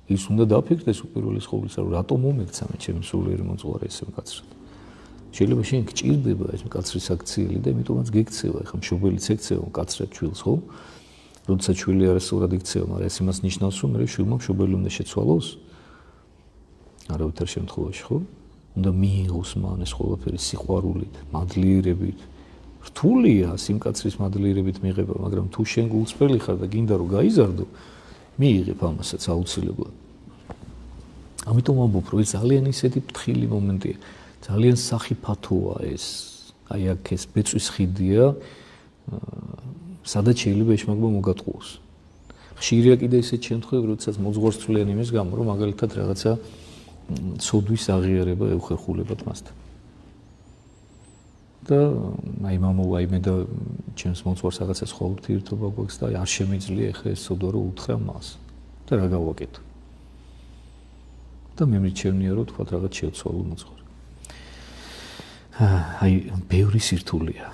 ის უნდა დაფიქრდეს უპირველეს ყოვლისა, რომ რატომ მომექცა მე ჩემი სულიერი მოძღვარი ესე კაცრად. შეიძლება შენ გჭირდება ეს კაცრი საქციელი და იმიტომაც გექცევა, ეხლა მშობელიც ექცევა კაცრად შვილს, ხო? როდესაც შვილი არასწორად იქცევა, მაგრამ ეს იმას ნიშნავს, რომ მე შვილმა მშობელი უნდა შეცვალოს. არავითარ შემთხვევაში, ხო? უნდა მიიღოს მან ეს ყველაფერი სიყვარულით, მადლიერებით. რთულია სიმკაცრის მადლიერებით მიღება, მაგრამ თუ შენ გულწრფელი ხარ და გინდა რომ გაიზარდო, მიიღებ ამასაც აუცილებლად. ამიტომ ამბობ, რომ ეს ძალიან ისეთი ფრთხილი მომენტია. ძალიან სახიფათოა ეს. აი აქ ეს ბეწვის ხიდია, სადაც შეიძლება ეშმაკობა მოგატყუოს. ხშირია კიდე ისეთი შემთხვევები, როდესაც მოძღვარს ცვლიან იმის გამო, რომ მაგალითად რაღაცა ცოდვის აღიარება ეუხერხულებათ მასთან. და აი მამოვა იმე და ჩემს მოძღვარს რაღაცა სხვა ურთიერთობა გვაქვს და არ შემიძლია ეხლა ეს ცოდვა რომ უთხრა მას. და რა გავაკეთო? და მე მიჩვენია რომ თქვა რაღაც შევცვალო მოძღვარი. აი ბევრი სირთულეა.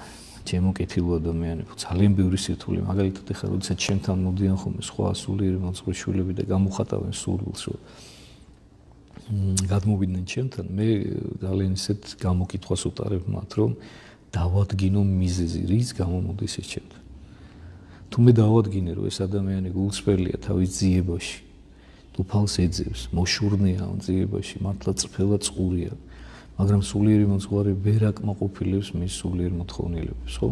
ჩემო კეთილო ადამიანებო, ძალიან ბევრი სირთულე. მაგალითად ეხლა როდესაც ჩემთან მოდიან ხოლმე სხვა სულიერი მოძღვრის შვილები და გამოხატავენ სურვილს რომ გადმოვიდნენ ჩემთან, მე ძალიან ისეთ გამოკითხვას უტარებ მათ, რომ დავადგინო მიზეზი, რის გამო მოდის ეს ჩემთან. თუ მე დავადგინე, რომ ეს ადამიანი გულწრფელია თავის ძიებაში, თუფალს ეძებს, მოშურნეა ამ ძიებაში, მართლა წრფელა წყურია, მაგრამ სულიერი მოძღვარი ვერ აკმაყოფილებს მის სულიერ მოთხოვნილებას, ხო?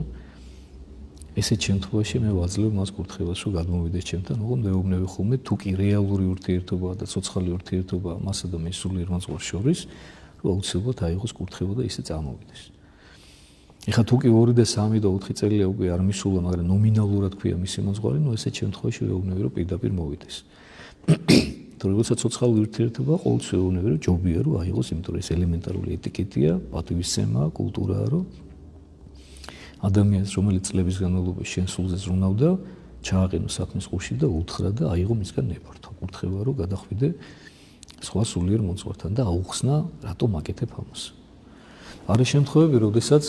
ესეთ შემთხვევაში მე ვაძლევ მას კურთხევას, რომ გადმოვიდეს ჩემთან, ოღონდ მეუბნები ხოლმე, თუ კი რეალური ურთიერთობაა და ცოცხალი ურთიერთობაა მასა და მის სულიერ მოძღვარს შორის, რომ აუცილებლად აიღოს კურთხევა და ისე წამოვიდეს. ეხლა თუ კი ორი და სამი და ოთხი წელია უკვე არ მისულა, მაგრამ ნომინალურად ქვია მისი მოძღვარი, ნუ ესეთ შემთხვევაში ვეუბნები, რომ პირდაპირ მოვიდეს. თუ როდესაც ცოცხალი ურთიერთობა, ყოველთვის ვეუბნები, რომ ჯობია რომ აიღოს, იმიტომ რომ ეს ელემენტარული ეტიკეტია, პატივისცემაა, კულტურაა, რომ ადამიანს, რომელიც წლების განმავლობაში შენ სულზე ზრუნავდა, ჩააყენო საქმის ყურში და უთხრა და აიღო მისგან ნებართვა, კურთხევა, რომ გადახვიდე სხვა სულიერ მოძღვართან და აუხსნა, რატომ აკეთებ ამას. არა შემთხვევები, როდესაც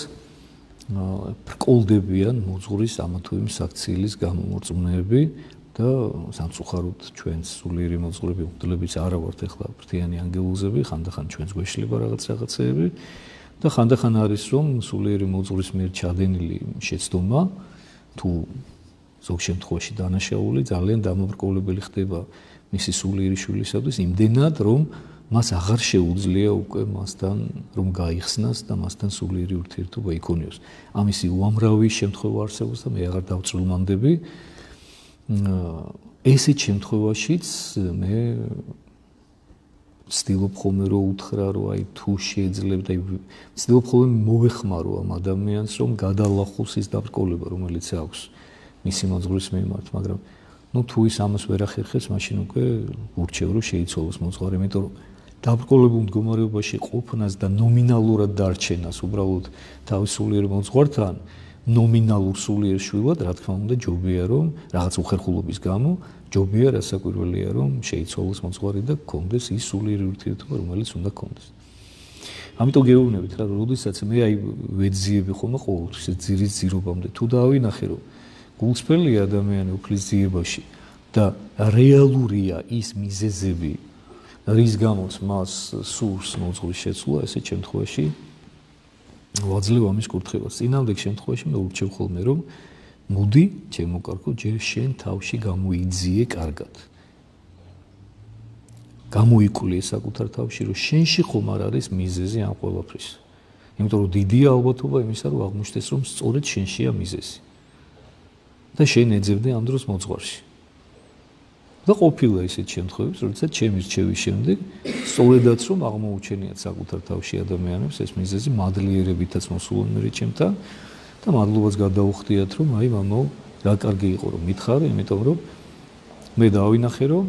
ბრკოლდებიან მოძღვრის ამა თუ იმ საქციელის გამომორწმუნეები და სამწუხაროდ ჩვენს სულიერი მოძღვრები უხდლებიც არა ვართ ეხლა ფრთიანი ანგელოზები, ხანდახან ჩვენს გვეშლება რაღაც რაღაცეები და ხანდახან არის რომ სულიერი მოძღვრის მიერ ჩადენილი შეცდომა თუ ზოგ შემთხვევაში დანაშაული ძალიან დამაბრკოლებელი ხდება მისი სულიერი შვილისათვის იმდენად რომ მას აღარ შეუძლია უკვე მასთან რომ გაიხსნას და მასთან სულიერი ურთიერთობა იქონიოს. ამისი უამრავი შემთხვევა არსებობს და მე აღარ დავწრულმანდები. ესეთ შემთხვევაშიც მე ვცდილობ ხოლმე რომ უთხრა რომ აი თუ შეეძლებთ აი ვცდილობ ხოლმე მოვეხმარო ამ ადამიანს რომ გადალახოს ის დაბრკოლება რომელიც აქვს მისი მოძღვრის მიმართ, მაგრამ ну თუ ის ამას ვერ ახერხებს, მაშინ უკვე ურჩევ რომ შეიცვალოს მოძღვარი, იმიტომ რომ დაბრკოლებულ მდგომარეობაში ყოფნას და ნომინალურად დარჩენას უბრალოდ თავის სულიერ მოძღვართან ნომინალურ სულიერ შვილად, რა თქმა უნდა, ჯობია რომ რაღაც უხერხულობის გამო, ჯობია რასაკვირველია რომ შეიცვალოს მოძღვარი და გქონდეს ის სულიერი ურთიერთობა, რომელიც უნდა გქონდეს. ამიტომ გეუბნებით რა, როდესაც მე აი ვეძიები ხოლმე ყოველთვის ძირის ძირობამდე, თუ დავინახე რომ გულწრფელი ადამიანი უფლის ძიებაში და რეალურია ის მიზეზები, რის გამოც მას სურს მოძღვრის შეცვლა, ესეთ შემთხვევაში ვაძლევ ამის კურთხევას. წინამდებ შემთხვევაში მე ურჩევ ხოლმე რომ მოდი, ჩემო კარგო, ჯერ შენ თავში გამოიძიე კარგად. გამოიკვლიე საკუთარ თავში, რომ შენში ხომ არ არის მიზეზი ამ ყველაფრის. იმიტომ რომ დიდია ალბათობა იმისა, რომ აღმოჩნდეს, რომ სწორედ შენშია მიზეზი. და შენ ეძებდე ამ დროს მოძღვარში. და ყოფილა ისეთ შემთხვევებში, როდესაც ჩემი რჩევის შემდეგ სწორედაც რომ აღმოუჩენიათ საკუთარ თავში ადამიანებს ეს მიზეზი მადლიერებითაც მოსულან მე ჩემთან და მადლობას გადაუხდიათ რომ აი მამო რა კარგი იყო რომ მითხარი, იმიტომ რომ მე დავინახე რომ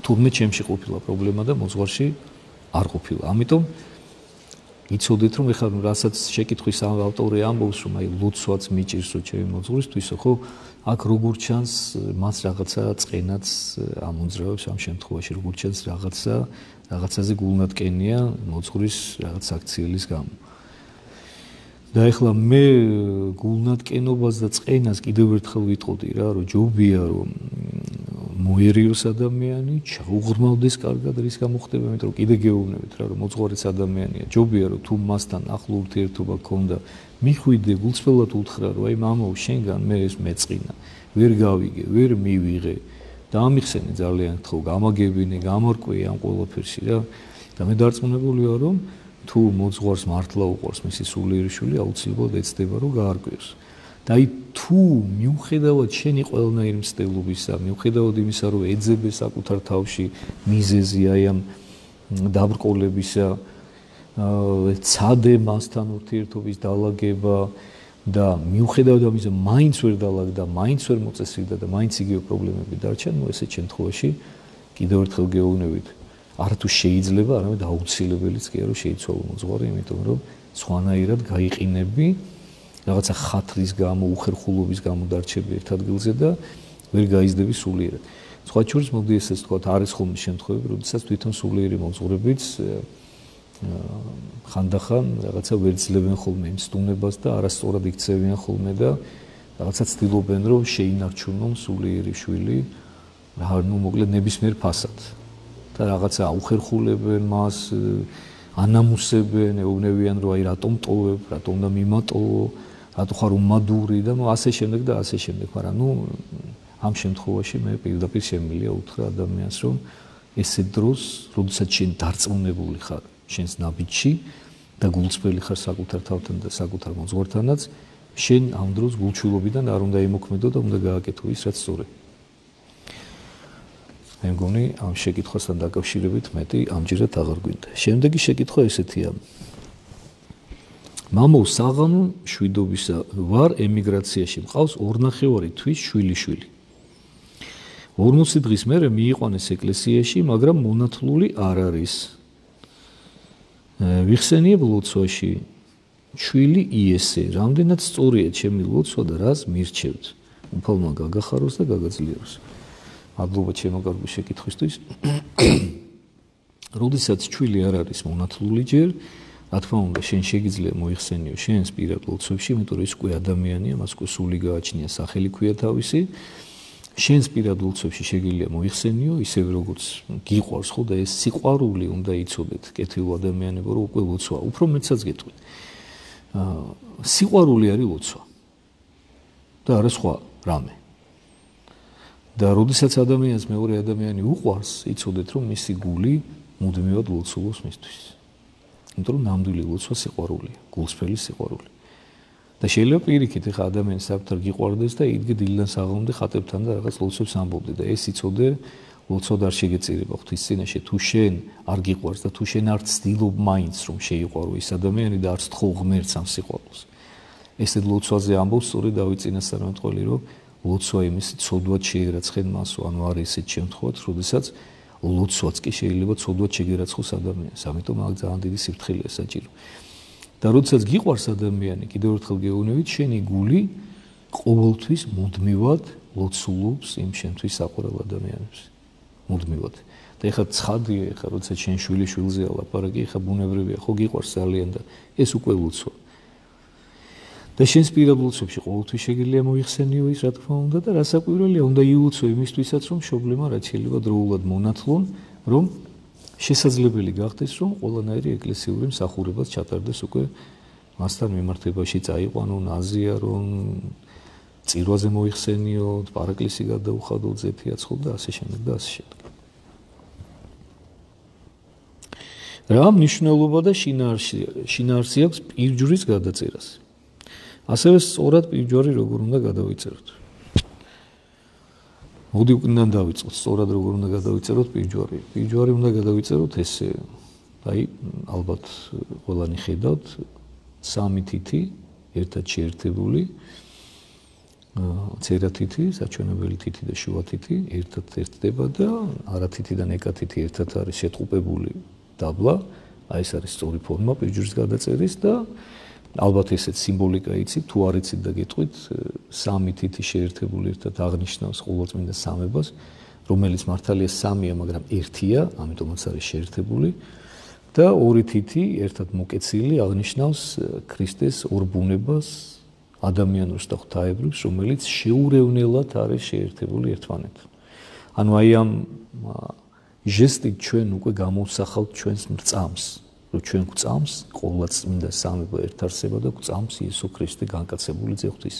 თურმე ჩემში ყოფილა პრობლემა და მოძღვარში არ ყოფილა. ამიტომ იცოდეთ რომ ეხლა რასაც შეკითხვის ავტორი ამბობს რომ აი ლოცვაც მიჭირს რომ ჩემი მოძღვრისთვისო ხო აქ როგორ ჩანს მას რაღაცა წყენაც ამოძრავებს ამ შემთხვევაში როგორ ჩანს რაღაცა რაღაცაზე გულნატკენია მოძღვრის რაღაც აქციელის გამო და ეხლა მე გულნატკენობას და წყენას კიდევ ერთხელ ვიტყოდი რა რომ ჯობია რომ მოერიოს ადამიანი ჩაუღრმავდეს კარგად რის გამო ხდება იმიტომ რომ კიდე გეუბნებით რა რომ მოძღვარიც ადამიანია ჯობია რომ თუ მასთან ახლო ურთიერთობა გქონდა მიხვიდე გულწრფელად უთხრა რომ აი მამაო შენგან მე ეს მეწყინა ვერ გავიგე ვერ მივიღე და ამიხსენე ძალიან ხო გამაგებინე გამორკვე ამ ყველაფერში რა და მე დარწმუნებული ვარ რომ თუ მოძღვარს მართლა უყვარს მისი სულიერი შვილი აუცილებლად ეცდება რომ გაარკვევს და აი თუ მიუხედავად შენი ყველანაირი მცდელობისა მიუხედავად იმისა რომ ეძებე საკუთარ თავში მიზეზი აი ამ დაბრკოლებისა ცადე მასთან ურთიერთობის დალაგება და მიუხედავად ამისა მაინც ვერ დალაგდა მაინც ვერ მოწესრიგდა და მაინც იგივე პრობლემები დარჩა ნუ ესეთ შემთხვევაში კიდევ ერთხელ გეუბნებით არათუ შეიძლება არამედ აუცილებელიც კი არა შეიცვალო მოძღვარი იმიტომ რომ სხვანაირად გაიყინები რაღაცა ხათრის გამო უხერხულობის გამო დარჩები ერთ ადგილზე და ვერ გაიზრდები სულიერად სხვა შორის მოდი ესეც თქვა არის ხოლმე შემთხვევები როდესაც თვითონ სულიერი მოძღვრებიც ხანდახან რაღაცა ვერ ძლებენ ხოლმე იმ სტუნებას და არასწორად იქცევიან ხოლმე და რაღაცა ცდილობენ რომ შეინარჩუნონ სულიერი შვილი რა ნუ მოკლედ ნებისმიერ ფასად და რაღაცა აუხერხულებენ მას ანამუსებენ ეუბნებიან რომ აი რატომ ტოვებ რატომ და მიმატოვო რატო ხარ უმადური და ნუ ასე შემდეგ და ასე შემდეგ მაგრამ ნუ ამ შემთხვევაში მე პირდაპირ შემიძლია უთხრა ადამიანს რომ ესე დროს როდესაც შენ დარწმუნებული ხარ შენს ნაბიჯში და გულწრფელი ხარ საკუთარ თავთან და საკუთარ მოძღვართანაც შენ ამ დროს გულჩვილობიდან არ უნდა იმოქმედო და უნდა გააკეთო ის რაც სწორია მე მგონი ამ შეკითხვასთან დაკავშირებით მეტი ამჯერად აღარ გვინდა შემდეგი შეკითხვა ესეთია მამო საღამო შვიდობისა ვარ ემიგრაციაში მყავს ორნახევარი თვის შვილიშვილი ორმოცი დღის მერე მიიყვანეს ეკლესიაში მაგრამ მონათლული არ არის ვიხსენიებ ლოცვაში შვილი იესე რამდენად სწორია ჩემი ლოცვა და რას მირჩევთ უფალმა გაგახაროს და გაგაძლიეროს მადლობა ჩემო კარგი შეკითხვისთვის როდესაც შვილი არ არის მონათლული ჯერ რა თქმა უნდა შენ შეგიძლია მოიხსენიო შენს პირად ლოცვებში იმიტომ რომ ის უკვე ადამიანია მას უკვე სული გააჩნია სახელი ქვია თავისი შენს პირად ლოცვებში შეგიძლია მოიხსენიო ისევ როგორც გიყვარს ხო და ეს სიყვარული უნდა იცოდეთ კეთილ ადამიანებო რომ უკვე ლოცვა უფრო მეცაც გეტყვით სიყვარული არის ლოცვა და არა სხვა რამე და როდესაც ადამიანს მეორე ადამიანი უყვარს იცოდეთ რომ მისი გული მუდმივად ლოცულობს მისთვის იმიტომ რომ ნამდვილი ლოცვა სიყვარულია გულსფრელი სიყვარული და შეიძლება პირიქით ეხა ადამიანს საკუთარ გიყვარდეს და იდგე დილიდან საღამომდე ხატებთან და რაღაც ლოცვებს ამბობდე და ეს იცოდე ლოცვა არ შეგეწირება ღვთისწინაშე თუ შენ არ გიყვარს და თუ შენ არ ცდილობ მაინც რომ შეიყვარო ის ადამიანი და არც თხოვ ღმერთს ამ სიყვარულს ესეთ ლოცვაზე ამბობს სწორედ დავით წინასწარმეტყველი რომ ლოცვა იმის ცოდვად შეერაცხენ მასო ანუ არის ესეთ შემთხვევაც როდესაც ლოცვაც კი შეიძლება ცოდვად შეგერაცხოს ადამიანს ამიტომ აქ ძალიან დიდი სიფრთხილეა საჭირო და როდესაც გიყვარს ადამიანი კიდევ ერთხელ გეუბნებით შენი გული ყოველთვის მუდმივად ლოცულობს იმ შენთვის საყვარელ ადამიანებს მუდმივად და ეხლა ცხადია ეხლა როდესაც შენ შვილი შვილზეა ლაპარაკი ეხლა ბუნებრივია ხო გიყვარს ძალიან და ეს უკვე ლოცვა და შენს პირად ლოცვებში ყოველთვის შეგიძლია მოიხსენიო ის რა თქმა უნდა და რასაკვირველია უნდა იულოცო იმისთვისაც რომ მშობლებმა რაც შეიძლება დროულად მონათლონ რომ შესაძლებელი გახდეს რომ ყველანაირი ეკლესიური მსახურებაც ჩატარდეს უკვე მასთან მიმართებაში წაიყვანონ აზიარონ წირვაზე მოიხსენიოთ პარაკლისი გადაუხადოთ ზეფიაცხოთ და ასე შემდეგ და ასე შემდეგ რა მნიშვნელობა და შინაარსი აქვს პირჯვრის გადაწერას ასევე სწორად პირჯვარი როგორ უნდა გადავიწეროთ მოდი უკან დავიწყოთ სწორად როგორ უნდა გადავიწეროთ პირჯვარი პირჯვარი უნდა გადავიწეროთ ესე აი ალბათ ყველანი ხედავთ სამი თითი ერთად შეერთებული წერა თითი საჩვენებელი თითი და შუა თითი ერთად ერთდება და არა თითი და ნეკა თითი ერთად არის შეტყუპებული დაბლა აი ეს არის სწორი ფორმა პირჯვრის გადაწერის და ალბათ ესეც სიმბოლიკა იცით, თუ არ იცით და გეტყვით, სამი თითი შეერთებული ერთად აღნიშნავს ყოვლადწმინდა სამებას, რომელიც მართალია სამია, მაგრამ ერთია, ამიტომაც არის შეერთებული და ორი თითი ერთად მოკეცილი აღნიშნავს ქრისტეს ორ ბუნებას, ადამიანურს და ღვთაებრებს, რომელიც შეურევნელად არის შეერთებული ერთმანეთთან. ანუ აი ამ ჟესტით ჩვენ უკვე გამოვსახავთ ჩვენს მრწამს, რომ ჩვენ გვწამს ყოვლადწმინდა სამება ერთ არსება და გვწამს იესო ქრისტე განკაცებული ძეღვთის.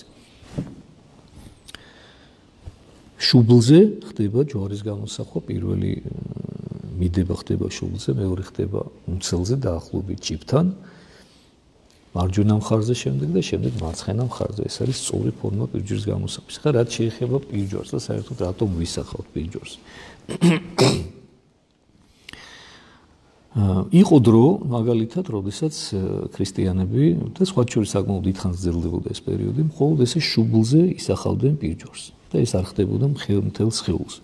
შუბლზე ხდება ჯვარის გამოსახვა, პირველი მიდება ხდება შუბლზე, მეორე ხდება უმცელზე დაახლოებით ჭიბთან, მარჯვენა მხარზე შემდეგ და შემდეგ მარცხენა მხარზე. ეს არის სწორი ფორმა პირჯვრის გამოსახვის. ხა რაც შეეხება პირჯვარს და საერთოდ რატომ ვისახავთ პირჯვარს. იყო დრო, მაგალითად, როდესაც ქრისტიანები და სხვა შორის საკმაოდ დიდხანს გრძელდებოდა ეს პერიოდი, მხოლოდ ესე შუბლზე ისახავდნენ პირჯვარს და ეს არ ხდებოდა მთელ სხეულზე.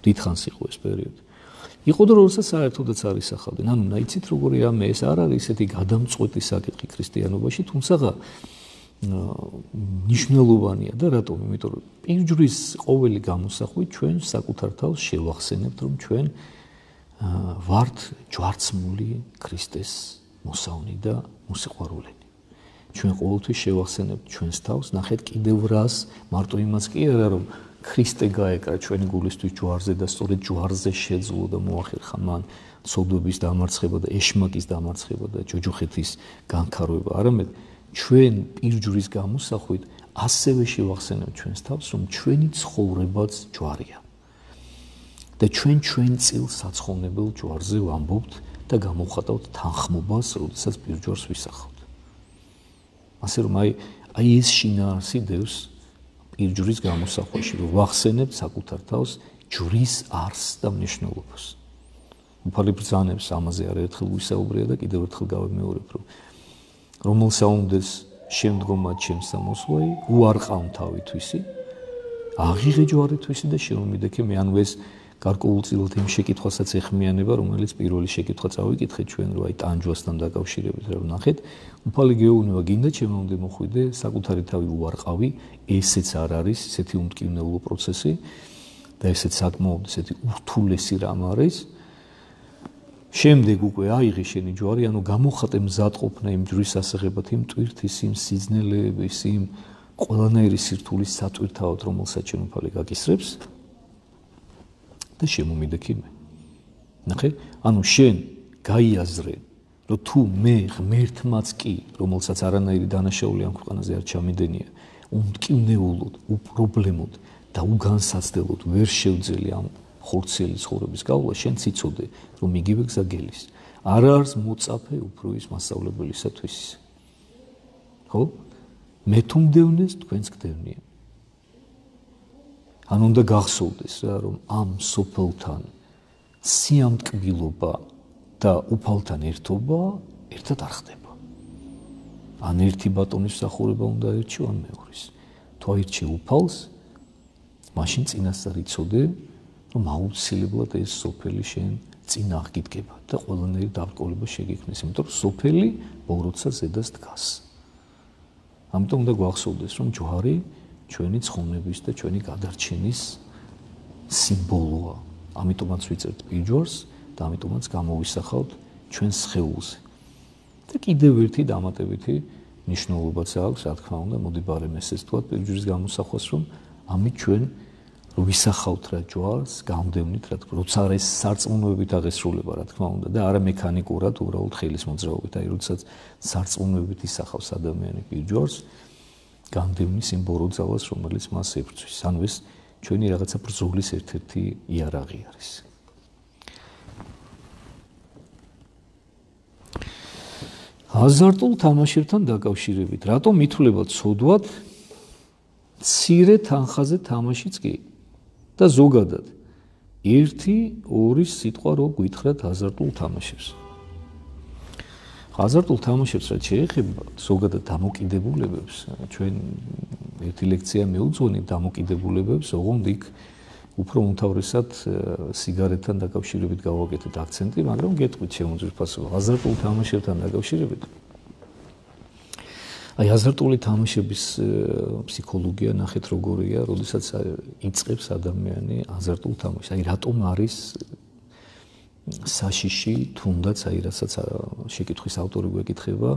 დიდხანს იყო ეს პერიოდი. იყო დრო, როდესაც საერთოდაც არ ისახავდნენ. ანუ ნაიცით როგორი რამე, ეს არ არის ესეთი გადამწყვეტი საკითხი ქრისტიანობაში, თუმცა მნიშვნელოვანია და რატომ? იმიტომ რომ პირჯვრის ყოველი გამოსახვით ჩვენ საკუთარ თავს შევახსენებთ, რომ ჩვენ ვართ ჯვარცმული ქრისტეს მოსავნი და მოსიყვარულენი. ჩვენ ყოველთვის შევახსენებთ ჩვენს თავს, ნახეთ კიდევ რას, მარტო იმას კი არა, რომ ქრისტე გაეკრა ჩვენი გულისთვის ჯვარზე და სწორედ ჯვარზე შეძლო და მოახერხა მან ცოდვების დამარცხება და ეშმაკის დამარცხება და ჯოჯოხეთის განქაროება, არამედ ჩვენ პირჯვრის გამოსახვით ასევე შევახსენებთ ჩვენს თავს, რომ ჩვენი ცხოვრებაც ჯვარია. და ჩვენ ჩვენ წილ საცხოვნებელ ჯვარზე ვამბობთ და გამოვხატავთ თანხმობას, როდესაც პირჯვარს ვისახავთ. ასე რომ აი აი ეს შინაარსი დევს პირჯვრის გამოსახვაში, რომ ვახსენებთ საკუთარ თავს ჯვრის არსს და მნიშვნელობას. უფალი ბრძანებს ამაზე არაერთხელ ვისაუბრია და კიდევ ერთხელ გავიმეორებ, რომ რომელ საუნდეს შემდგომად ჩემს სამოსვლაი, უარყავ თავითვისი, აღიღე ჯვარითვისი და შემომიდექე მე, ანუ ეს გარკვეულწილად იმ შეკითხვასაც ეხმიანება, რომელიც პირველი შეკითხვა წავიკითხეთ ჩვენ, რომ აი ტანჯვასთან დაკავშირებით, რომ ნახეთ, უფალი გეუბნება, გინდა ჩემამდე მოხვიდე, საკუთარი თავი უარყავი, ესეც არ არის ესეთი უმტკივნეულო პროცესი და ესეც საკმაოდ ესეთი ურთულესი რამ არის. შემდეგ უკვე აიღე შენი ჯვარი, ანუ გამოხატე მზადყოფნა იმ ჯვრის ასაღებად, იმ ტვირთის, იმ სიძნელეების, იმ ყველანაირი სირთულის სატვირთავად, რომელსაც შენ უფალი გაკისრებს. და შემომიდექი მე. ნახე, ანუ შენ გაიაზრე, რომ თუ მე ღმერთმაც კი, რომელსაც არანაირი დანაშაული ამ ქვეყანაზე არ ჩამიდენია, უმტკივნეულოდ, უპრობლემოდ და უგანსაცდელოდ ვერ შევძელი ამ ხორციელი ცხოვრების გავლა, შენ ციცოდე, რომ იგივე გზა გელის. არ არის მოწაფე უფრო ის მასწავლებელისათვის. ხო? მე თუ მდევნეს, თქვენც გდევნია. ან უნდა გახსოვდეს რა, რომ ამ სოფელთან სიამტკბილობა და უფალთან ერთობა ერთად არ ხდება. ან ერთი ბატონის მსახურება უნდა ერჩიო, ან მეორის. თუ აირჩი უფალს, მაშინ წინასწარ იცოდე, რომ აუცილებლად ეს სოფელი შენ წინ აღგიდგება და ყველანაირი დაბრკოლება შეგექმნეს, იმიტომ რომ სოფელი ბოროტსა ზედას დგას. ამიტომ უნდა გვახსოვდეს, რომ ჯვარი ჩვენი ცხონების და ჩვენი გადარჩენის სიმბოლოა. ამიტომაც ვიწერთ პირჯვარს და ამიტომაც გამოვისახავთ ჩვენს სხეულზე. და კიდევ ერთი დამატებითი მნიშვნელობაც აქვს, რა თქმა უნდა, მოდი ბარემ ესეც თქვა პირჯვრის გამოსახვას, რომ ამით ჩვენ ვისახავთ რა ჯვარს, გამდევნით რა თქმა უნდა, როცა არის სარწმუნოებით აღესრულება, რა თქმა უნდა, და არა მექანიკურად, უბრალოდ ხელის მოძრაობით. აი, როდესაც სარწმუნოებით ისახავს ადამიანი პირჯვარს, გამდევნის იმ ბოროტძალას, რომელიც მას ებრძვის. ანუ ეს ჩვენი რაღაცა ბრძოლის ერთ-ერთი იარაღი არის. აზარტულ თამაშებთან დაკავშირებით, რატომ ითვლება ცოდვად მცირე თანხაზე თამაშიც კი და ზოგადად ერთი ორი სიტყვა რო გითხრათ აზარტულ თამაშებს. აზარტულ თამაშებს რაც შეეხება ზოგადად დამოკიდებულებებს, ჩვენ ერთი ლექცია მეუძღვენით დამოკიდებულებებს, ოღონდ იქ უფრო უმთავრესად სიგარეტთან დაკავშირებით გავაკეთეთ აქცენტი, მაგრამ გეტყვით შემოძვირფასება. აზარტულ თამაშებთან დაკავშირებით აი აზარტული თამაშების ფსიქოლოგია ნახეთ როგორია, როდესაც იწყებს ადამიანი აზარტულ თამაშს. აი რატომ არის საშიში, თუნდაც აი რასაც შეკითხვის ავტორი გვეკითხება,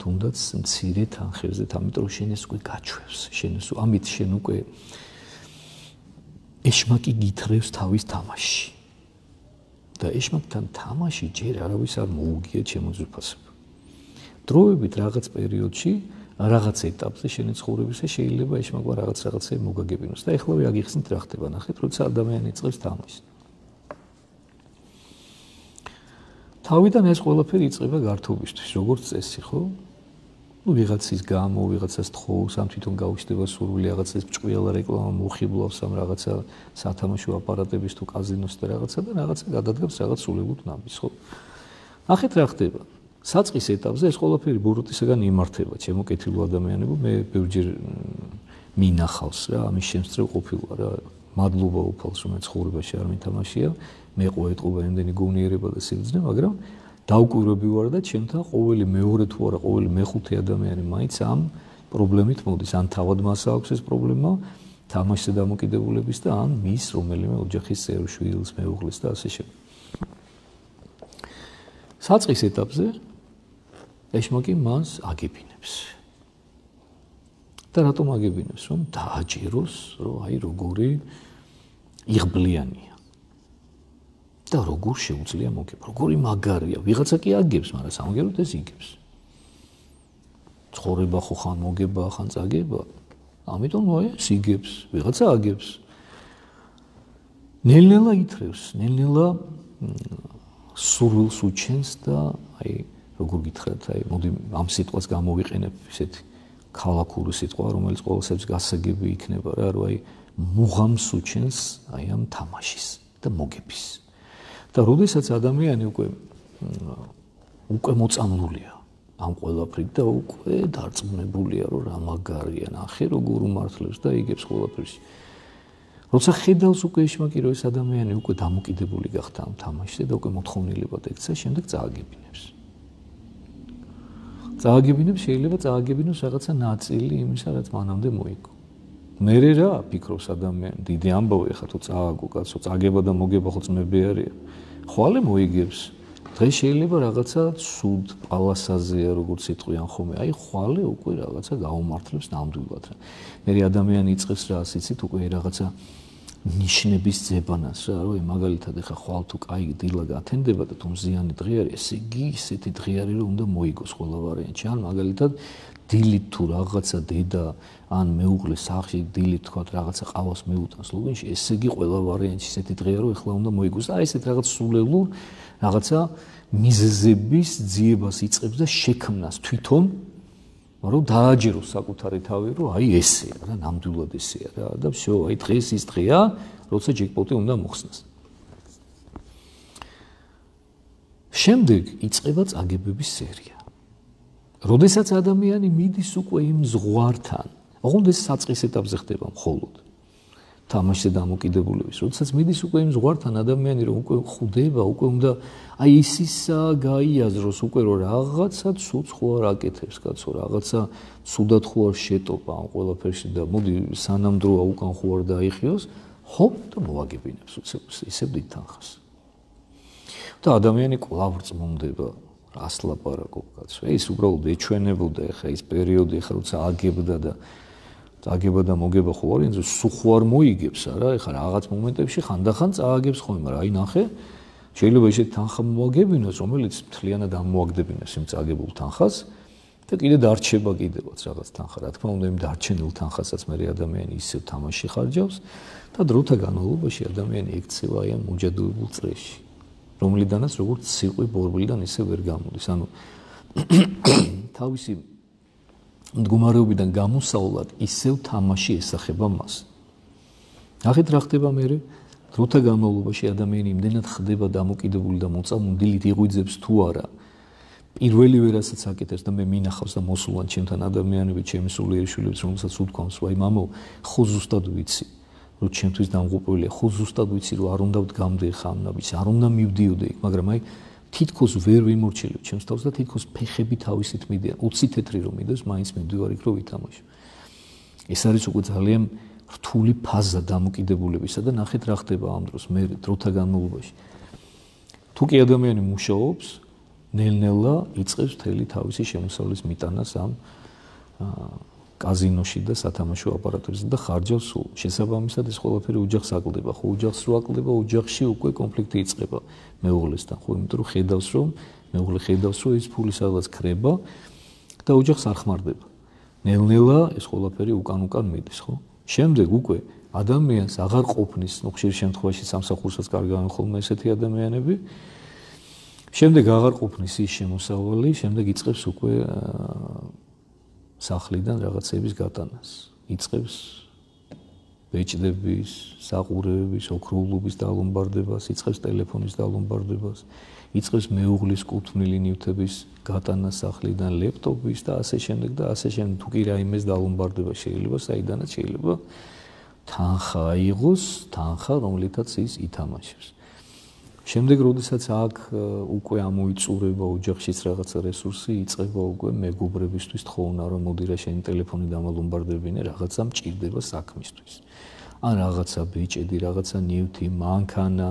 თუნდაც მცირე თანხებზე, ამიტომ შენ ეს უკვე გაჩვევს, შენ ეს ამით შენ უკვე ეშმაკი გითხრევს თავის თამაშში. და ეშმაკთან თამაში ჯერ არავის არ მოუგია შემოძვირფასება. დროებით რაღაც პერიოდში, რაღაც ეტაპზე შენი ცხოვრებისა შეიძლება ეშმაკმა რაღაც რაღაცები მოგაგებინოს და ეხლა ვიაგიხსნით რა ხდება, ნახეთ, როცა ადამიანი იწყებს თამაშს. თავიდან ეს ყველაფერი იწყება გართობისთვის, როგორც წესი, ხო? ну ვიღაცის გამო, ვიღაცას თხოვს, ამ თვითონ გაუჩნდება სურვილი რაღაცის ჭკვიალა რეკლამა მოხიბლავს ამ რაღაცა სათამაშო აპარატების თუ კაზინოს და რაღაცა და რაღაცა გადადგებს რაღაც სულელუთ ნამის, ხო? ნახეთ რა ხდება. საწყის ეტაპზე ეს ყველაფერი ბოროტისაგან იმართება, ჩემო კეთილო ადამიანებო, მე ბევრჯერ მინახავს რა, ამის შემსწრე ყოფილა რა. მადლობა უფალს, რომ ცხოვრებაში არ მითამაშია, მე ყოეთყობა იმდენი გონიერება და სიბრძნე, მაგრამ დავკვირვები ვარ და ჩემთან ყოველი მეორე თუ არა ყოველი მეხუთე ადამიანი მაინც ამ პრობლემით მოდის, ან თავად მას აქვს ეს პრობლემა თამაშზე დამოკიდებულების და ან მის რომელიმე ოჯახის წევრ შვილს, მეუღლეს და ასე შემდეგ. საწყის ეტაპზე ეშმაკი მას აგებინებს. და რატომ აგებინებს? რომ დააჯეროს, რომ აი როგორი იღბლიანია. და როგორ შეუძლია მოგება, როგორი მაგარია, ვიღაცა კი აგებს, მაგრამ სამაგეროდ ეს იგებს. ცხოვრება ხო ხან მოგება, ხან წაგება, ამიტომ აი ეს იგებს, ვიღაცა აგებს. ნელ-ნელა ითრევს, ნელ-ნელა სურვილს უჩენს და აი როგორ გითხრათ, აი მოდი ამ სიტყვას გამოვიყენებ, ისეთი ქალაქური სიტყვა, რომელიც ყოველსეც გასაგები იქნება რა, რომ აი მუღამს უჩენს აი ამ თამაშის და მოგების. და როდესაც ადამიანი უკვე უკვე მოწამლულია ამ ყველაფრით და უკვე დარწმუნებულია, რომ რა მაგარია, ნახე როგორ უმართლებს და იგებს ყველაფერში. როცა ხედავს უკვე ეშმაკი, რომ ეს ადამიანი უკვე დამოკიდებული გახდა ამ თამაშზე და უკვე მოთხოვნილებად ექცა, შემდეგ წააგებინებს. წააგებინებს, შეიძლება წააგებინოს რაღაცა ნაწილი იმისა, რაც მანამდე მოიგო. მერე რა ფიქრობს ადამიანი, დიდი ამბავი ხა თუ წააგო კაცო, წაგება და მოგება ხო ძმები არიან. ხვალე მოიგებს. დღეს შეიძლება რაღაცა სუდ პალასაზეა, როგორც იტყვიან ხოლმე. აი ხვალე უკვე რაღაცა გაუმართლებს ნამდვილად რა. მერე ადამიანი იწყებს რა, იცით, უკვე რაღაცა ნიშნების ძებანას რა, რომ მაგალითად ეხა ხვალ თუ კაი დილა გათენდება და თუ მზიანი დღე არის, ესე იგი ისეთი დღე არის, რომ უნდა მოიგოს ყველა ვარიანტი. ან მაგალითად დილით თუ რაღაცა დედა ან მეუღლე სახში დილით თქვა რაღაცა ყავას მეუტანს ლუგინში, ესე იგი ყველა ვარიანტი ისეთი დღეა, რომ ეხლა უნდა მოიგოს. და აი ესეთ რაღაც სულელურ რაღაცა მიზეზების ძიებას იწყებს და შექმნას თვითონ, რომ დააჯეროს საკუთარი თავი, რომ აი ესეა რა, ნამდვილად ესეა რა და всё, აი დღეს ის დღეა, როცა ჯეკპოტი უნდა მოხსნას. შემდეგ იწყება წაგებების სერია. როდესაც ადამიანი მიდის უკვე იმ ზღვართან, ოღონდ ეს საწყის ეტაპზე ხდება მხოლოდ თამაშზე დამოკიდებულების, როდესაც მიდის უკვე იმ ზღვართან ადამიანი, რომ უკვე ხვდება, უკვე უნდა აი ისისა გაიაზროს უკვე რომ რაღაცა ცუდს ხო არ აკეთებს კაცო, რაღაცა ცუდად ხო არ შეტოპა ამ ყველაფერში და მოდი სანამ დროა უკან ხო არ დაიხიოს, ჰოპ და მოაგებინებს ისევ დიდ თანხას. და ადამიანი კვლავ რწმუნდება რას ლაპარაკობ კაცო, ეს უბრალოდ ეჩვენებოდა ეხა ის პერიოდი ეხა როცა აგებდა და წაგება და მოგება ხო არის, სულ ხო არ მოიგებს არა, ეხა რაღაც მომენტებში ხანდახან წააგებს ხოლმე, მაგრამ აი ნახე, შეიძლება ისეთი თანხა მოაგებინოს, რომელიც მთლიანად ამოაგდებინოს იმ წაგებულ თანხას და კიდე დარჩება კიდევაც რაღაც თანხა, რა თქმა უნდა, იმ დარჩენილ თანხასაც მე ადამიანი ისევ თამაში ხარჯავს და დროთა განმავლობაში ადამიანი ექცევა აი ამ მოჯადოებულ წრეში, რომლიდანაც როგორც ციყვი ბორბლიდან ისე ვერ გამოდის, ანუ თავისი მდგომარეობიდან გამოსავლად ისევ თამაში ესახება მას. ნახეთ რა ხდება მერე, დროთა განმავლობაში ადამიანი იმდენად ხდება დამოკიდებული და მოწამული, დილით იღვიძებს თუ არა. პირველივე რასაც აკეთებს და მე მინახავს და მოსულან ჩემთან ადამიანები, ჩემი სულიერი შვილებს, რომელსაც უთქვამს, ვაი მამო, ხო ზუსტად ვიცი. რომ ჩემთვის დამღუპველია, ხო ზუსტად ვიცი რომ არ უნდა ვდგამდე ხანნა, ვიცი, არ უნდა მივდიოდე იქ, მაგრამ აი თითქოს ვერ ვიმორჩილებ ჩემს თავს და თითქოს ფეხები თავისით მიდიან. ოცი თეთრი რომ მიდოს, მაინც მივდივარ იქ რომ ვითამაშო. ეს არის უკვე ძალიან რთული ფაზა დამოკიდებულებისა და ნახეთ რა ხდება ამ დროს მე დროთა განმავლობაში. თუ კი ადამიანი მუშაობს, ნელ-ნელა იწყებს მთელი თავისი შემოსავლის მიტანას ამ კაზინოში და სათამაშო აპარატებზე და ხარჯავს სულ. შესაბამისად ეს ყველაფერი ოჯახს აკლდება, ხო ოჯახს რო აკლდება, ოჯახში უკვე კონფლიქტი იწყება მეუღლესთან, ხო, იმიტომ რომ ხედავს რომ მეუღლე ხედავს რომ ეს ფული სადღაც ქრება და ოჯახს არ ხმარდება. ნელ-ნელა ეს ყველაფერი უკან-უკან მიდის, ხო? შემდეგ უკვე ადამიანს აღარ ყოფნის, ну, ხშირ შემთხვევაში სამსახურსაც კარგავენ ხოლმე ესეთი ადამიანები. შემდეგ აღარ ყოფნის ის შემოსავალი, შემდეგ იწყებს უკვე სახლიდან რაღაცების გატანას. იწყებს ბეჭდების, საყურეების, ოქროულობის დალომბარდებას, იწყებს ტელეფონის დალომბარდებას, იწყებს მეუღლის კუთვნილი ნივთების გატანას სახლიდან, ლეპტოპის და ასე შემდეგ და ასე შემდეგ. თუ კი რაიმეს დალომბარდება შეიძლება, საიდანაც შეიძლება თანხა აიღოს, თანხა, რომლითაც ის ითამაშებს. შემდეგ, როდესაც აქ უკვე ამოიწურება ოჯახშიც რაღაცა რესურსი, იწყება უკვე მეგობრებისთვის თხოვნა, რომ მოდი რა შენი ტელეფონი დამალომბარდებინე, რაღაცა მჭირდება საქმისთვის. ან რაღაცა ბეჭედი, რაღაცა ნივთი, მანქანა.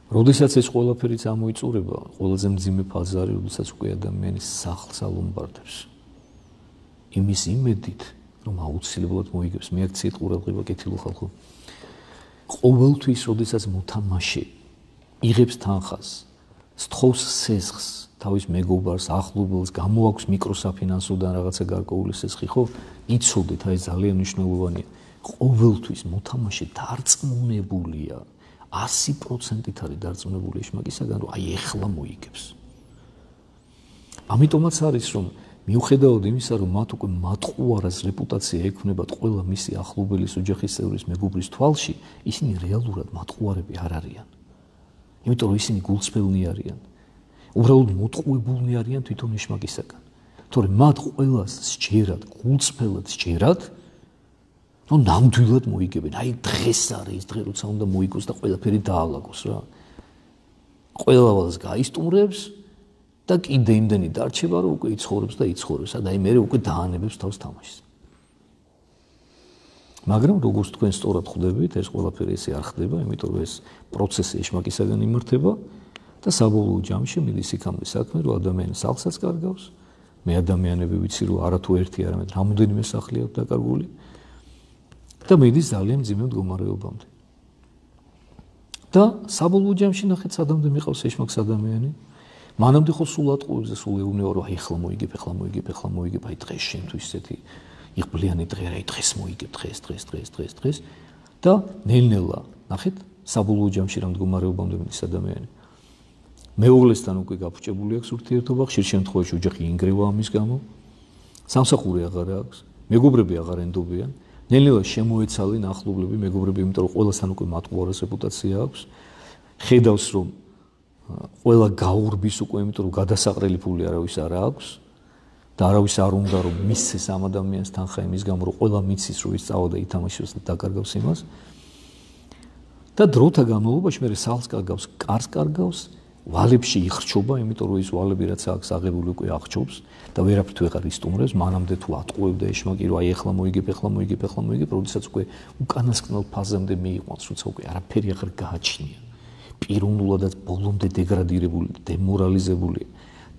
როდესაც ეს ყველაფერიც ამოიწურება, ყველაზე მძიმე ფაზა არის, როდესაც უკვე ადამიანი სახლს ალომბარდებს. იმის იმედით, რომ აუცილებლად მოიგებს, მე აქციეთ ყურადღება კეთილო ხალხო. ყოველთვის, როდესაც მოთამაშე იღებს თანხას, სთხოვს სესხს, თავის მეგობარს, ახლობელს, გამოაქვს მიკროსაფინანსოდან რაღაცა გარკვეული სესხი, ხო? იცოდეთ, აი ძალიან მნიშვნელოვანია. ყოველთვის მოთამაშე დარწმუნებულია, ასი პროცენტით არის დარწმუნებული ეშმაკისაგან, რომ აი ეხლა მოიგებს. ამიტომაც არის, რომ მიუხედავად იმისა, რომ მათ უკვე მატყუარას რეპუტაცია ექნებათ ყველა მისი ახლობელის, ოჯახის წევრის, მეგობრის თვალში, ისინი რეალურად მატყუარები არ არიან. იმიტომ რომ ისინი გულწრფელნი არიან. უბრალოდ მოტყუებულნი არიან თვითონ ეშმაკისაგან. თორემ მათ ყველას სჯერათ, გულწრფელად სჯერათ, რომ ნამდვილად მოიგებენ. აი დღეს არის ის დღე, როცა უნდა მოიგოს და ყველაფერი დაალაგოს რა. ყველას გაისტუმრებს და კიდე იმდენი დარჩება, რომ უკვე იცხოვრებს და იცხოვრებს, და აი მე უკვე დაანებებს თავს თამაშს. მაგრამ როგორც თქვენ სწორად ხვდებით, ეს ყველაფერი ესე არ ხდება, იმიტომ რომ ეს პროცესი ეშმაკისაგან იმართება და საბოლოო ჯამში მიდის იქამდე საქმე, რომ ადამიანი სახლსაც კარგავს, მე ადამიანები ვიცი, რომ არა თუ ერთი, არამედ რამოდენიმე სახლი აქვს დაკარგული და მიდის ძალიან მძიმე მდგომარეობამდე. და საბოლოო ჯამში ნახეთ, სადამდე მიყავს ეშმაკს ადამიანი. მანამდე ხო სულ ატყუებს და სულ ეუბნება, რომ აი ახლა მოიგებ, ახლა მოიგებ, ახლა მოიგებ, აი დღეს შენთვის ესეთი იღბლიანი დღე რა, აი დღეს მოიგებ, დღეს, დღეს, დღეს, დღეს, დღეს და ნელ-ნელა, ნახეთ, საბოლოო ჯამში რა მდგომარეობამდე მიდის ადამიანი. მეუღლესთან უკვე გაფუჭებული აქვს ურთიერთობა, ხშირ შემთხვევაში ოჯახი ინგრევა ამის გამო, სამსახური აღარ აქვს, მეგობრები აღარ ენდობიან, ნელ-ნელა შემოეცალენ ახლობლები, მეგობრები, იმიტომ რომ ყველასთან უკვე მატყუარას რეპუტაცია აქვს, ხედავს რომ ყველა გაურბის უკვე, იმიტომ რომ გადასაყრელი ფული არავის არ აქვს და არავის არ უნდა რომ მისცეს ამ ადამიანს თანხა იმის გამო, რომ ყველა მიცის რომ ის წავა და ითამაშოს და დაკარგავს იმას. და დროთა განმავლობაში მე სახლს კარგავს, კარს კარგავს, ვალებში იხრჩობა, იმიტომ რომ ის ვალები რაც აქვს აღებული უკვე აღჩობს და ვერაფრით ვეღარ ისტუმრებს, მანამდე თუ ატყუებდა ეშმაკი, რომ აი ახლა მოიგებ, ახლა მოიგებ, ახლა მოიგებ, როდესაც უკვე უკანასკნელ ფაზამდე მიიყვანს, როცა უკვე არაფერი აღარ გააჩნია. პიროვნულადაც ბოლომდე დეგრადირებული, დემორალიზებული,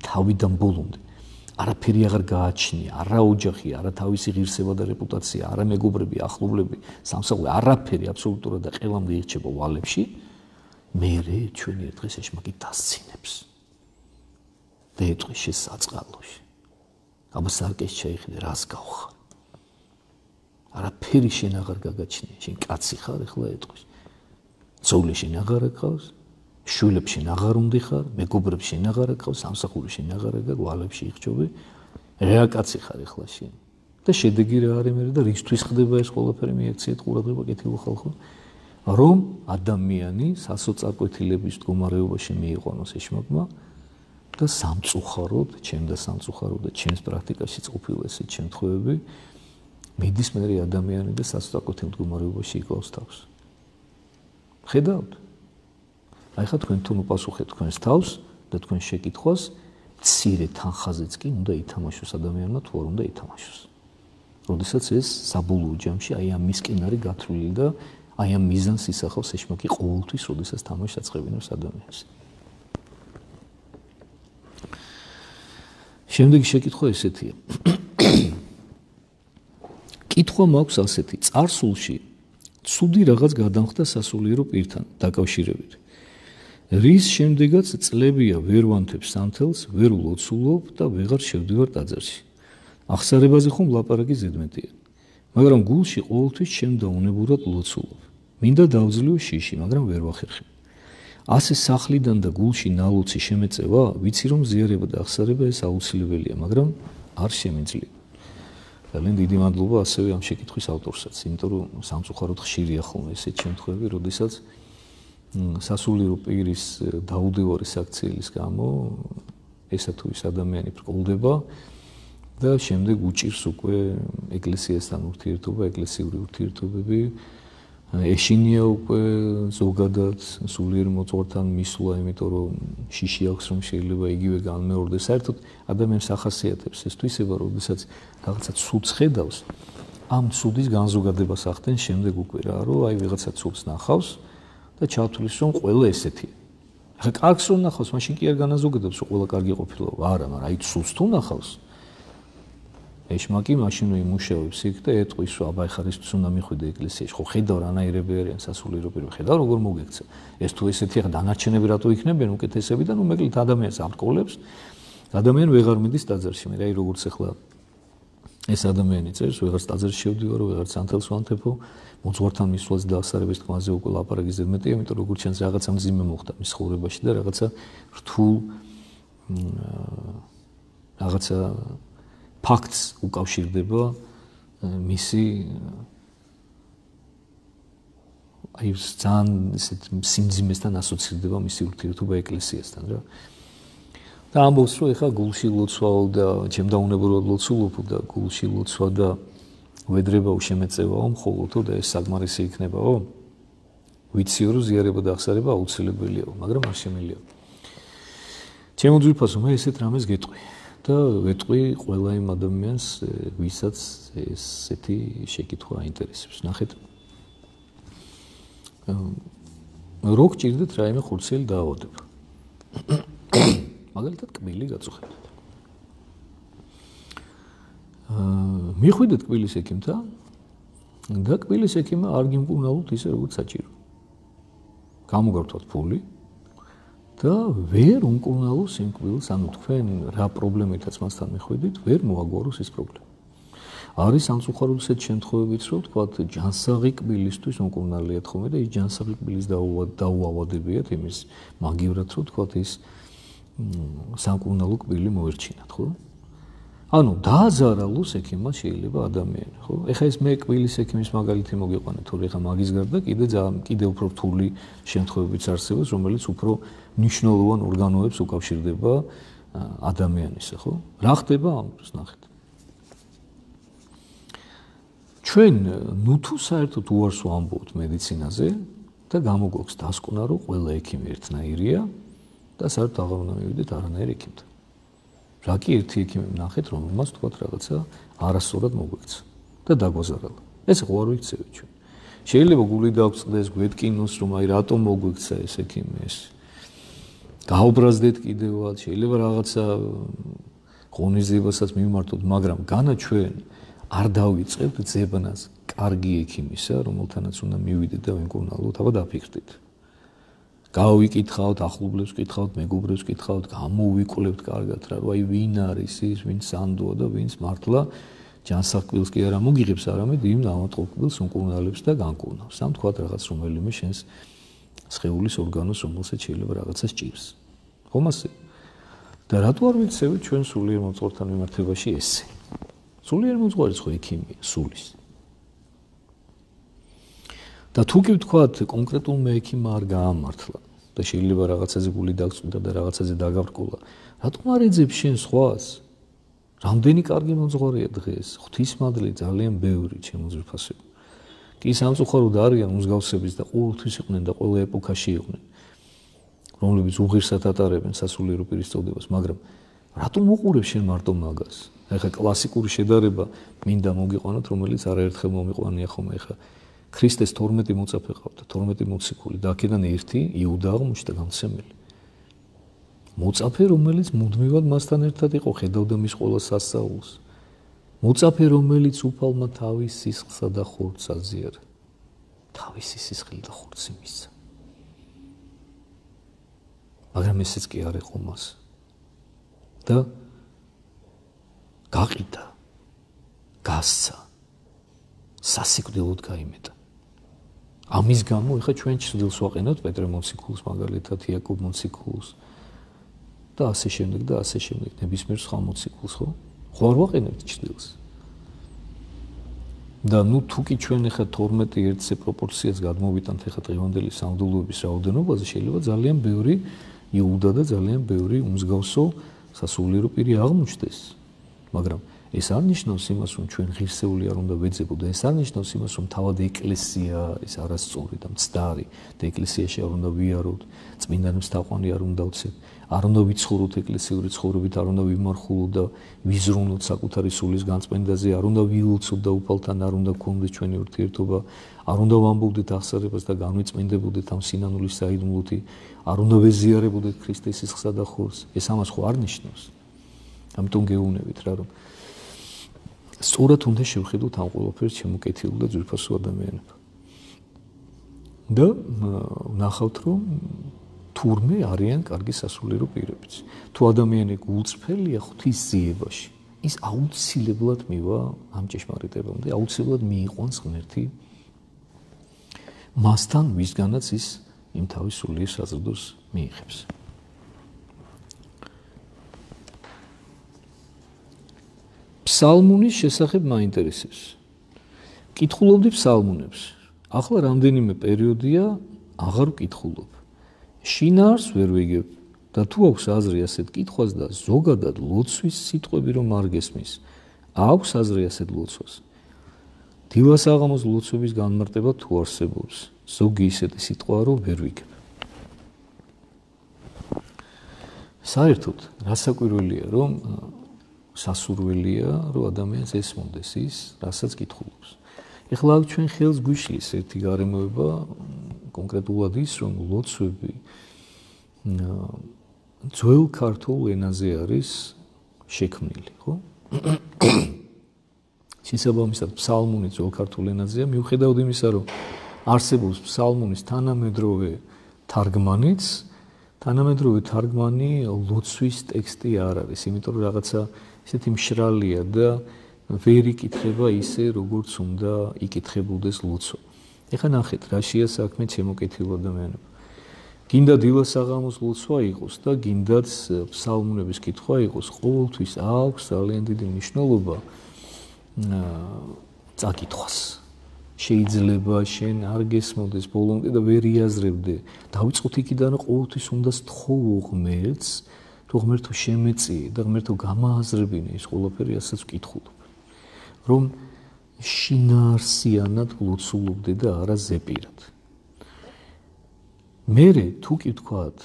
თავიდან ბოლომდე. არაფერი აღარ გააჩნია, არა ოჯახი, არა თავისი ღირსება და რეპუტაცია, არა მეგობრები, ახლობლები, სამსახური, არაფერი აბსოლუტურად და ყველამდე ირჩება ვალებში. მერე ჩვენი ერთ დღეს ეშმაკი დასცინებს. და ეტყვის შენ საწყალოში. აბა სარკეს ჩაიხედე, რას გავხარ? არაფერი შენ აღარ გაგაჩნია, შენ კაცი ხარ, ეხლა ეტყვის. ცოვლი შენ აღარ აკავს, შვილებს შენ აღარ უნდა ხარ, მეგობრებს შენ აღარ აკავს, სამსახური შენ აღარ აკავს, ვალებში იხჩობი. რა კაცი ხარ ეხლა შენ? და შედეგი რა არის მე და რისთვის ხდება ეს ყველაფერი მიექციეთ ყურადღება კეთილო ხალხო, რომ ადამიანი სასოწარკვეთილების მდგომარეობაში მიიყვანოს ეშმაკმა და სამწუხაროდ, ჩემ და სამწუხაროდ და ჩემს პრაქტიკაშიც ყოფილა ესეთ შემთხვევები, მიდის მერე ადამიანი და სასწრაფო მდგომარეობაში იკლავს თავს. ხედავთ? აი ხა თქვენ თუნ უპასუხეთ თქვენს თავს და თქვენ შეკითხვას მცირე თანხაზეც კი უნდა ითამაშოს ადამიანმა თუ არ უნდა ითამაშოს. როდესაც ეს საბოლოო ჯამში აი ამ მისკენ არის გათვლილი და აი ამ მიზანს ისახავს ეშმაკი ყოველთვის, როდესაც თამაშს აწყებინებს ადამიანს. შემდეგი შეკითხვა ესეთია. კითხვა მაქვს ასეთი: წარსულში ცუდი რაღაც გადამხდა სასულიერო პირთან დაკავშირებით. რის შემდეგაც წლებია ვერ ვანთებ სანთელს, ვერ ვლოცულობ და ვეღარ შევდივარ ტაძარში. ახსარებაზე ხომ ლაპარაკი ზედმეტია. მაგრამ გულში ყოველთვის შემდაუნებურად ლოცულობ. მინდა დავძლიო შიში, მაგრამ ვერ ვახერხებ. ასე სახლიდან და გულში ნალოცი შემეწევა, ვიცი რომ ზიარება და ახსარება ეს აუცილებელია, მაგრამ არ შემიძლია. ძალიან დიდი მადლობა ასევე ამ შეკითხვის ავტორსაც, იმიტომ რომ სამწუხაროდ ხშირია ხოლმე ესეთ შემთხვევები, როდესაც სასულიერო პირის დაუდევარი საქციელის გამო ესა თუ ის ადამიანი ბრკოლდება და შემდეგ უჭირს უკვე ეკლესიასთან ურთიერთობა, ეკლესიური ურთიერთობები, ეშინია უკვე ზოგადად სულიერ მოწვორთან მისვლა, იმიტომ რომ შიში აქვს რომ შეიძლება იგივე განმეორდეს. საერთოდ ადამიანს ახასიათებს ეს თვისება, როდესაც რაღაცა ცუდს ხედავს, ამ ცუდის განზოგადებას ახდენს შემდეგ უკვე რა, რომ აი ვიღაცა ცუდს ნახავს და ჩათვლის რომ ყველა ესეთია. ახლა კარგს რომ ნახავს, მაშინ კი არ განაზოგადებს რომ ყველა კარგი ყოფილა. არა, მაგრამ აი ცუდს თუ ნახავს, ეშმაკი მაშინ იმუშავებს იქ და ეტყვის რომ აბა ხარ ის უნდა მიხვიდე ეკლესიაში. ხო ხედავ რანაირები არიან სასულიერო პირები, ხედავ როგორ მოგექცა. ეს თუ ესეთი ახლა დანარჩენები რატო იქნებიან უკეთესები და ნუ მეკლით ადამიანს ამკოლებს. ადამიანი ვეღარ მიდის ტაძარში. მე აი როგორც ახლა ეს ადამიანი წერს, ვეღარ ტაძარში შევდივარ, ვეღარ სანთელს ვანთებო, მოძღვართან მისვლას და ახსარების თქმაზე უკვე ლაპარაკი ზედმეტია, იმიტომ რომ როგორც ჩანს რაღაცა მძიმე მოხდა მის ცხოვრებაში და რაღაცა რთულ რაღაცა ფაქტს უკავშირდება მისი აი ძალიან ისეთ სიმძიმესთან ასოცირდება მისი ურთიერთობა ეკლესიასთან რა. და ამბობს რომ ეხა გულში ლოცვაო და ჩემდაუნებურად ლოცულობ და გულში ლოცვა და ვედრება უშემეწევაო მხოლოდო და ეს საკმარისი იქნებაო. ვიციო რომ ზიარება და ახსარება აუცილებელიაო, მაგრამ არ შემიძლია. ჩემო ძვირფასო, მე ესეთ რამეს გეტყვი. და ვეტყვი ყველა იმ ადამიანს, ვისაც ესეთი შეკითხვა აინტერესებს. ნახეთ. რო გჭირდეთ რაიმე ხურციელი დაავადება. მაგალითად კბილი გაწუხებთ. აა მიხვიდეთ კბილის ექიმთან და კბილის ექიმმა არ გიმკურნალოთ ისე როგორც საჭირო. გამოგართვათ ფული და ვერ უმკურნალოს იმ კბილს, ანუ თქვენ რა პრობლემითაც მასთან მიხვიდით, ვერ მოაგვაროს ეს პრობლემა. არის სამწუხაროდ ისეთ შემთხვევებიც, რომ თქვათ ჯანსაღი კბილისთვის უმკურნალიათ ხოლმე და ის ჯანსაღი კბილის დაუავადებიათ იმის მაგივრად, რომ თქვათ ის სამკურნალო კბილი მოერჩინათ, ხო? ანუ დააზარალოს ექიმმა შეიძლება ადამიანი, ხო? ეხა ეს მე კბილის ექიმის მაგალითი მოგიყვანე, თორე ეხა მაგის გარდა კიდე კიდე უფრო რთული შემთხვევებიც არსებობს, რომელიც უფრო მნიშვნელოვან ორგანოებს უკავშირდება ადამიანისა, ხო? რა ხდება ამ დროს ნახეთ. ჩვენ ნუ თუ საერთოდ უარს ვამბობთ მედიცინაზე და გამოგვაქვს დასკვნა, რომ ყველა ექიმი ერთნაირია და საერთოდ აღარ უნდა მივიდეთ არანაირ ექიმთან. რა კი ერთი ექიმი ნახეთ, რომელმაც თქვათ რაღაცა არასწორად მოგვექცა და დაგვაზარალა. ეს ხო არ ვიცევით ჩვენ. შეიძლება გული დაგვწყდეს, გვეთკინოს, რომ აი რატომ მოგვექცა ეს ექიმი ეს. გაუბრაზდეთ კიდევაც, შეიძლება რაღაცა ღონისძიებასაც მიმართოთ, მაგრამ განა ჩვენ არ დავიწყებთ ძებნას კარგი ექიმისა, რომელთანაც უნდა მივიდეთ და ვიმკურნალოთ, აბა დაფიქრდით. გავიკითხავთ, ახლობლებს ვკითხავთ, მეგობრებს ვკითხავთ, გამოვიკვლევთ კარგად რა, რომ აი ვინ არის ის, ვინც სანდოა და ვინც მართლა ჯანსაღ კბილს კი არა მოგიღებს, არამედ იმ ავადმყოფ კბილს უმკურნალებს და განკურნავს. ამ თქვათ რაღაც რომელიმე შენს სხეულის ორგანოს, რომელსაც შეიძლება რაღაცა სჭირს. ხომ ასე? და რატო არ ვიცევით ჩვენ სულიერ მოძღვართან მიმართებაში ესე? სულიერ მოძღვარიც ხო ექიმია, სულის. და თუ კი ვთქვათ კონკრეტულმა ექიმმა არ გაამართლა და შეიძლება რაღაცაზე გული დაგწვდა და რაღაცაზე დაგაბრკოლა, რატომ არ ეძებს შენ სხვას? რამდენი კარგი მოძღვარია დღეს, ღვთისმადლი ძალიან ბევრი ჩემო ძვირფასებო. კი სამწუხაროდ არიან მსგავსების და ყოველთვის იყვნენ და ყველა ეპოქაში იყვნენ, რომლებიც უღირსად ატარებენ სასულიერო პირის წოდებას, მაგრამ რატომ უყურებ შენ მარტო მაგას? ეხლა კლასიკური შედარება მინდა მოგიყვანოთ, რომელიც არაერთხელ მომიყვანია ხოლმე ეხლა ქრისტეს თორმეტი მოწაფე ყავდა, თორმეტი მოციქული და აქედან ერთი იუდა აღმოჩნდა გამცემელი. მოწაფე, რომელიც მუდმივად მასთან ერთად იყო, ხედავდა მის ყველა სასწაულს. მოწაფე, რომელიც უფალმა თავის სისხლსა და ხორცს აზიარა. თავისი სისხლი და ხორცი მისცა. მაგრამ ესეც კი არ იყო მას. და გაყიდა, გასცა, სასიკვდილოდ გაიმეტა. ამის გამო ეხლა ჩვენ ცდილს ვაყენოთ პეტრე მოციქულს, მაგალითად იაკობ მოციქულს და ასე შემდეგ და ასე შემდეგ ნებისმიერ სხვა მოციქულს, ხო? ხო არ ვაყენებთ ცდილს. და ნუ თუ კი ჩვენ ეხლა თორმეტი ერთზე პროპორციას გადმოვიტანთ ეხლა დღევანდელი სამღვდელოების რაოდენობაზე, შეიძლება ძალიან ბევრი იუდა და ძალიან ბევრი უმსგავსო სასულიერო პირი აღმოჩნდეს. მაგრამ ეს არ ნიშნავს იმას, რომ ჩვენ ღირსეული არ უნდა ვეძებოთ და ეს არ ნიშნავს იმას, რომ თავად ეკლესია არის არასწორი და მცდარი და ეკლესიაში არ უნდა ვიაროთ, წმინდანებს თაყვანი არ უნდა ვცეთ, არ უნდა ვიცხოვროთ ეკლესიური ცხოვრებით, არ უნდა ვიმარხულოთ და ვიზრუნოთ საკუთარი სულის განწმენდაზე, არ უნდა ვიულცოთ და უფალთან არ უნდა გქონდეს ჩვენი ურთიერთობა, არ უნდა ვამბობდეთ აღსარებას და განვიწმინდებოდეთ ამ სინანულის საიდუმლოთი, არ უნდა ვეზიარებოდეთ ქრისტეს სისხლსა და ხორცს. ეს ამას ხო არ ნიშნავს. ამიტომ გეუბნებით რა, რომ სწორად უნდა შევხედოთ ამ ყველაფერს შემოკეთილ და ძვირფასო ადამიანებად. და ნახავთ, რომ თურმე არიან კარგი სასულიერო პირებიც. თუ ადამიანი გულწრფელია ღვთის ძიებაში, ის აუცილებლად მივა ამ ჭეშმარიტებამდე, აუცილებლად მიიყვანს ღმერთი მასთან, ვისგანაც ის იმ თავის სულიერ საზრდოს მიიღებს. ფსალმუნის შესახებ მაინტერესებს. კითხულობდი ფსალმუნებს. ახლა რამდენიმე პერიოდია აღარ ვკითხულობ. შინაარს ვერ ვიგებ და თუ აქვს აზრი ასეთ კითხვას და ზოგადად ლოცვის სიტყვები რომ არ გესმის, აქვს აზრი ასეთ ლოცვას. დილას აღამოს ლოცვების განმარტება თუ არსებობს, ზოგი ისეთი სიტყვა რომ ვერ ვიგებ. საერთოდ რასაკვირველია რომ სასურველია რომ ადამიანს ესმოდეს ის, რასაც კითხულობს. ეხლა აქ ჩვენ ხელს გვიშლის ერთი გარემოება, კონკრეტულად ის, რომ ლოცვები ძველ ქართულ ენაზე არის შექმნილი, ხო? შესაბამისად, ფსალმუნი ძველ ქართულ ენაზეა, მიუხედავად იმისა, რომ არსებობს ფსალმუნის თანამედროვე თარგმანიც, თანამედროვე თარგმანი ლოცვის ტექსტი არ არის, იმიტომ რომ რაღაცა ისეთი მშრალია და ვერ იკითხება ისე, როგორც უნდა იკითხებოდეს ლოცვა. ეხლა ნახეთ, რაშია საქმე ჩემოკეთილ ადამიანებო. გინდა დილას საღამოს ლოცვა იყოს და გინდაც ფსალმუნების კითხვა იყოს, ყოველთვის აქვს ძალიან დიდი მნიშვნელობა წაკითხვას. შეიძლება შენ არ გესმოდეს ბოლომდე და ვერ იაზრებდე. დავიწყოთ იქიდან, რომ ყოველთვის უნდა სთხოვო ღმერთს, თუ ღმერთო შემეწიე და ღმერთო გამააზრებინე ის ყველაფერი, რასაც ვკითხულობ. რომ შინაარსიანად ლოცულობდე და არა ზეპირად. მერე თუ კი ვთქვათ,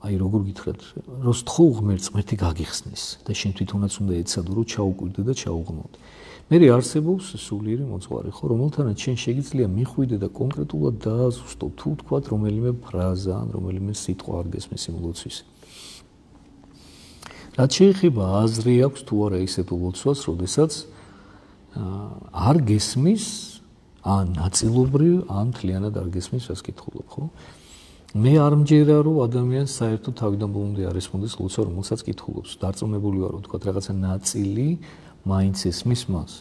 აი როგორ გითხრათ, რომ სთხოვ ღმერთს, ღმერთი გაგიხსნის და შენ თვითონაც უნდა ეცადო, რომ ჩაუკვირდე და ჩაუღმოთ. მერე არსებობს სულიერი მოძღვარი, ხო, რომელთანაც შენ შეგიძლია მიხვიდე და კონკრეტულად დააზუსტო, თუ ვთქვათ, რომელიმე ფრაზა ან რომელიმე სიტყვა არ გესმის იმ ლოცვის. რაც შეეხება აზრი აქვს თუ არა ისეთ ლოცვას, როდესაც არ გესმის, ან ნაწილობრივ, ან მთლიანად არ გესმის, რაც კითხულობ, ხო? მე არ მჯერა, რომ ადამიანს საერთოდ თავიდან ბოლომდე არ ესმოდეს ლოცვა, რომელსაც კითხულობს. დარწმუნებული ვარ, რომ თქვათ რაღაცა ნაწილი მაინც ესმის მას.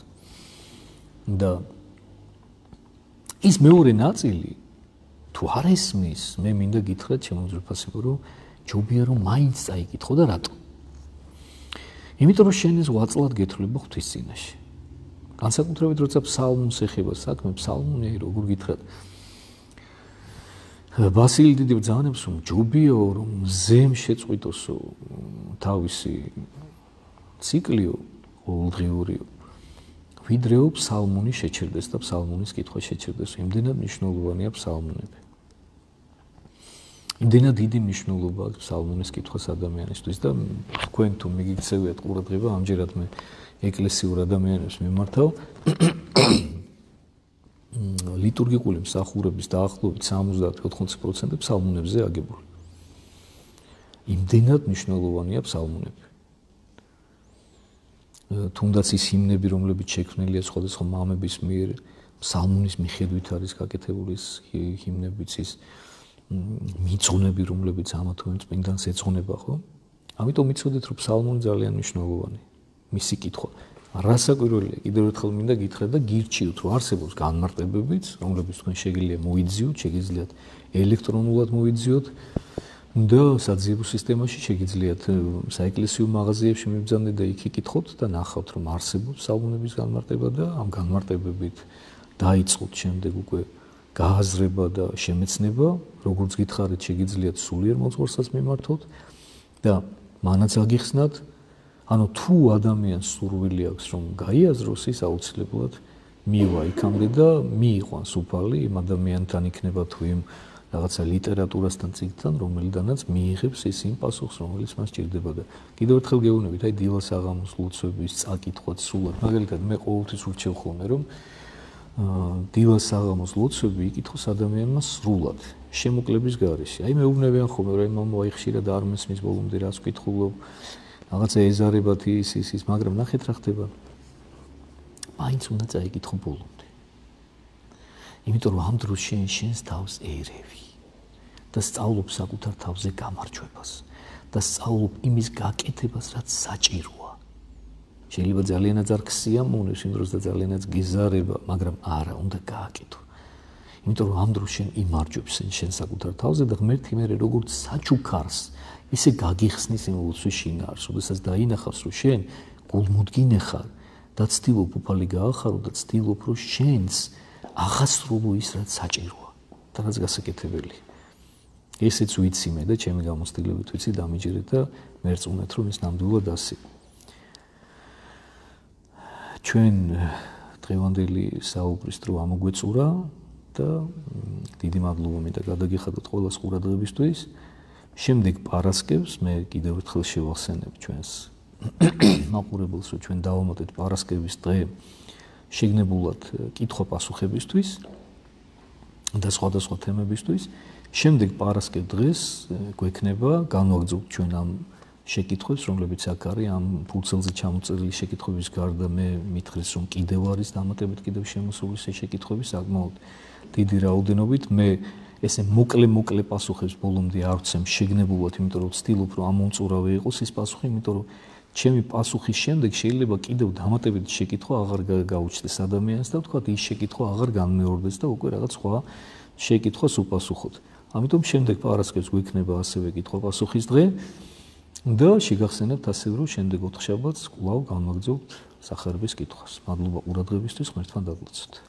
და ის მეორე ნაწილი თუ არ ესმის, მე მინდა გითხრათ ჩემო ძვირფასებო, რომ ჯობია რომ მაინც წაიკითხო და რატო? იმიტომ რომ შენ ეს ვაწლად გეთვლება ღვთის წინაშე. განსაკუთრებით როცა ფსალმუნს ეხება საქმე, ფსალმუნი როგორ გითხრათ, ბასილი დიდი ბრძანებს, რომ ჯობიაო რომ მზემ შეწყვიტოსო თავისი ციკლიო, ყოველდღიურიო. ვიდრეო ფსალმუნი შეჩერდეს და ფსალმუნის კითხვა შეჩერდეს. იმდენად მნიშვნელოვანია ფსალმუნები. იმდენად დიდი მნიშვნელობა აქვს ფსალმუნის კითხვას ადამიანისთვის და თქვენ თუ მიგიქცევიათ ყურადღება, ამჯერად მე ეკლესიურ ადამიანებს მიმართავ. ლიტურგიკული მსახურების დაახლოებით სამოცდაათ ოთხმოცი პროცენტი ფსალმუნებზე აგებული. იმდენად მნიშვნელოვანია ფსალმუნები. თუნდაც ის ჰიმნები, რომლებიც შექმნილია სხვადასხვა მამების მიერ, ფსალმუნის მიხედვით არის გაკეთებული ის ჰიმნებიც, ის მიწონები, რომლებიც ამა თუ იმ წმინდანს ეძღვნება, ხო? ამიტომ მიცოდეთ, რომ ფსალმუნი ძალიან მნიშვნელოვანია. მისი კითხვა. რასაკვირველია, კიდევ ერთხელ მინდა გითხრათ და გირჩიოთ, რომ არსებობს განმარტებებიც, რომლებიც თქვენ შეგიძლია მოიძიოთ, შეგიძლიათ ელექტრონულად მოიძიოთ და საძიებო სისტემაში შეგიძლიათ საეკლესიო მაღაზიებში მიბრძანდეთ და იქ იკითხოთ და ნახავთ, რომ არსებობს ფსალმუნების განმარტება და ამ განმარტებებით დაიწყოთ შემდეგ უკვე გააზრება და შემეცნება, როგორც გითხარით, შეგიძლიათ სულიერ მოძღვარსაც მიმართოთ და მანაც აგიხსნათ, ანუ თუ ადამიანს სურვილი აქვს, რომ გაიაზროს, ის აუცილებლად მივა იქამდე და მიიყვანს უფალი იმ ადამიანთან იქნება თუ იმ რაღაცა ლიტერატურასთან წიგნთან, რომელიდანაც მიიღებს ის იმ პასუხს, რომელიც მას ჭირდება და კიდევ ერთხელ გეუბნებით, აი დილას აღამოს ლოცვების წაკითხვაც სრულად. მაგალითად, მე ყოველთვის ურჩევ ხოლმე, რომ დილას აღამოს ლოცვები იკითხოს ადამიანმა სრულად, შემოკლების გარეშე. აი მეუბნებიან ხოლმე, რომ მამა ხშირად არ მესმის ბოლომდე რას ვკითხულობ, რაღაცა ეზარებათ ის ის ის, მაგრამ ნახეთ რა ხდება. მაინც უნდა წაიკითხო ბოლომდე. იმიტომ რომ ამ დროს შენ შენს თავს ერევი და სწავლობ საკუთარ თავზე გამარჯვებას და სწავლობ იმის გაკეთებას, რაც საჭიროა. შეიძლება ძალიანაც არ ქსიამოვნებს იმ დროს და ძალიანაც გეზარება, მაგრამ არა, უნდა გააკეთო. იმიტომ რომ ამ დროს შენ იმარჯვებს შენ საკუთარ თავზე და ღმერთი მერე როგორც საჩუქარს ისე გაგიხსნის იმ ლოცვის შინაარს, როდესაც დაინახავს, რომ შენ გულმოდგინე ხარ და ცდილობ უფალი გაახარო და ცდილობ, რომ შენს აღასრულო ის, რაც საჭიროა და რაც გასაკეთებელია. ესეც ვიცი მე და ჩემი გამოცდილებით ვიცი დამიჯერეთ და მერწმუნეთ, რომ ის ნამდვილად ასე. ჩვენ დღევანდელი საუბრის დრო ამოგვეწურა და დიდი მადლობა მინდა გადაგიხადოთ ყველას ყურადღებისთვის. შემდეგ პარასკევს მე კიდევ ერთხელ შევახსენებ ჩვენს მაყურებელს, რომ ჩვენ დავამატეთ პარასკევის დღე შეგნებულად კითხვა-პასუხებისთვის და სხვადასხვა თემებისთვის. შემდეგ პარასკევ დღეს გვექნება განვაგრძობთ ჩვენ ამ შეკითხვებს, რომლებიც აქ არის, ამ ფურცელზე ჩამოწერილი შეკითხვების გარდა მე მითხრეს, რომ კიდევ არის დამატებით კიდევ შემოსული შეკითხვები საკმაოდ დიდი რაოდენობით. მე ესე მოკლე-მოკლე პასუხებს ბოლომდე არ ვცემ შეგნებულად, იმიტომ რომ ვცდილობ, რომ ამომწურავე იყოს ის პასუხი, იმიტომ რომ ჩემი პასუხის შემდეგ შეიძლება კიდევ დამატებითი შეკითხვა აღარ გაუჩნდეს ადამიანს და ვთქვათ, ის შეკითხვა აღარ განმეორდეს და უკვე რაღაც სხვა შეკითხვას უპასუხოთ. ამიტომ შემდეგ პარასკევს გვექნება ასევე კითხვა-პასუხის დღე და შეგახსენებთ ასევე, რომ შემდეგ ოთხშაბათს კვლავ განვაგრძობთ სახარების კითხვას. მადლობა ყურადღებისთვის, ღმერთთან დაგლოცოთ.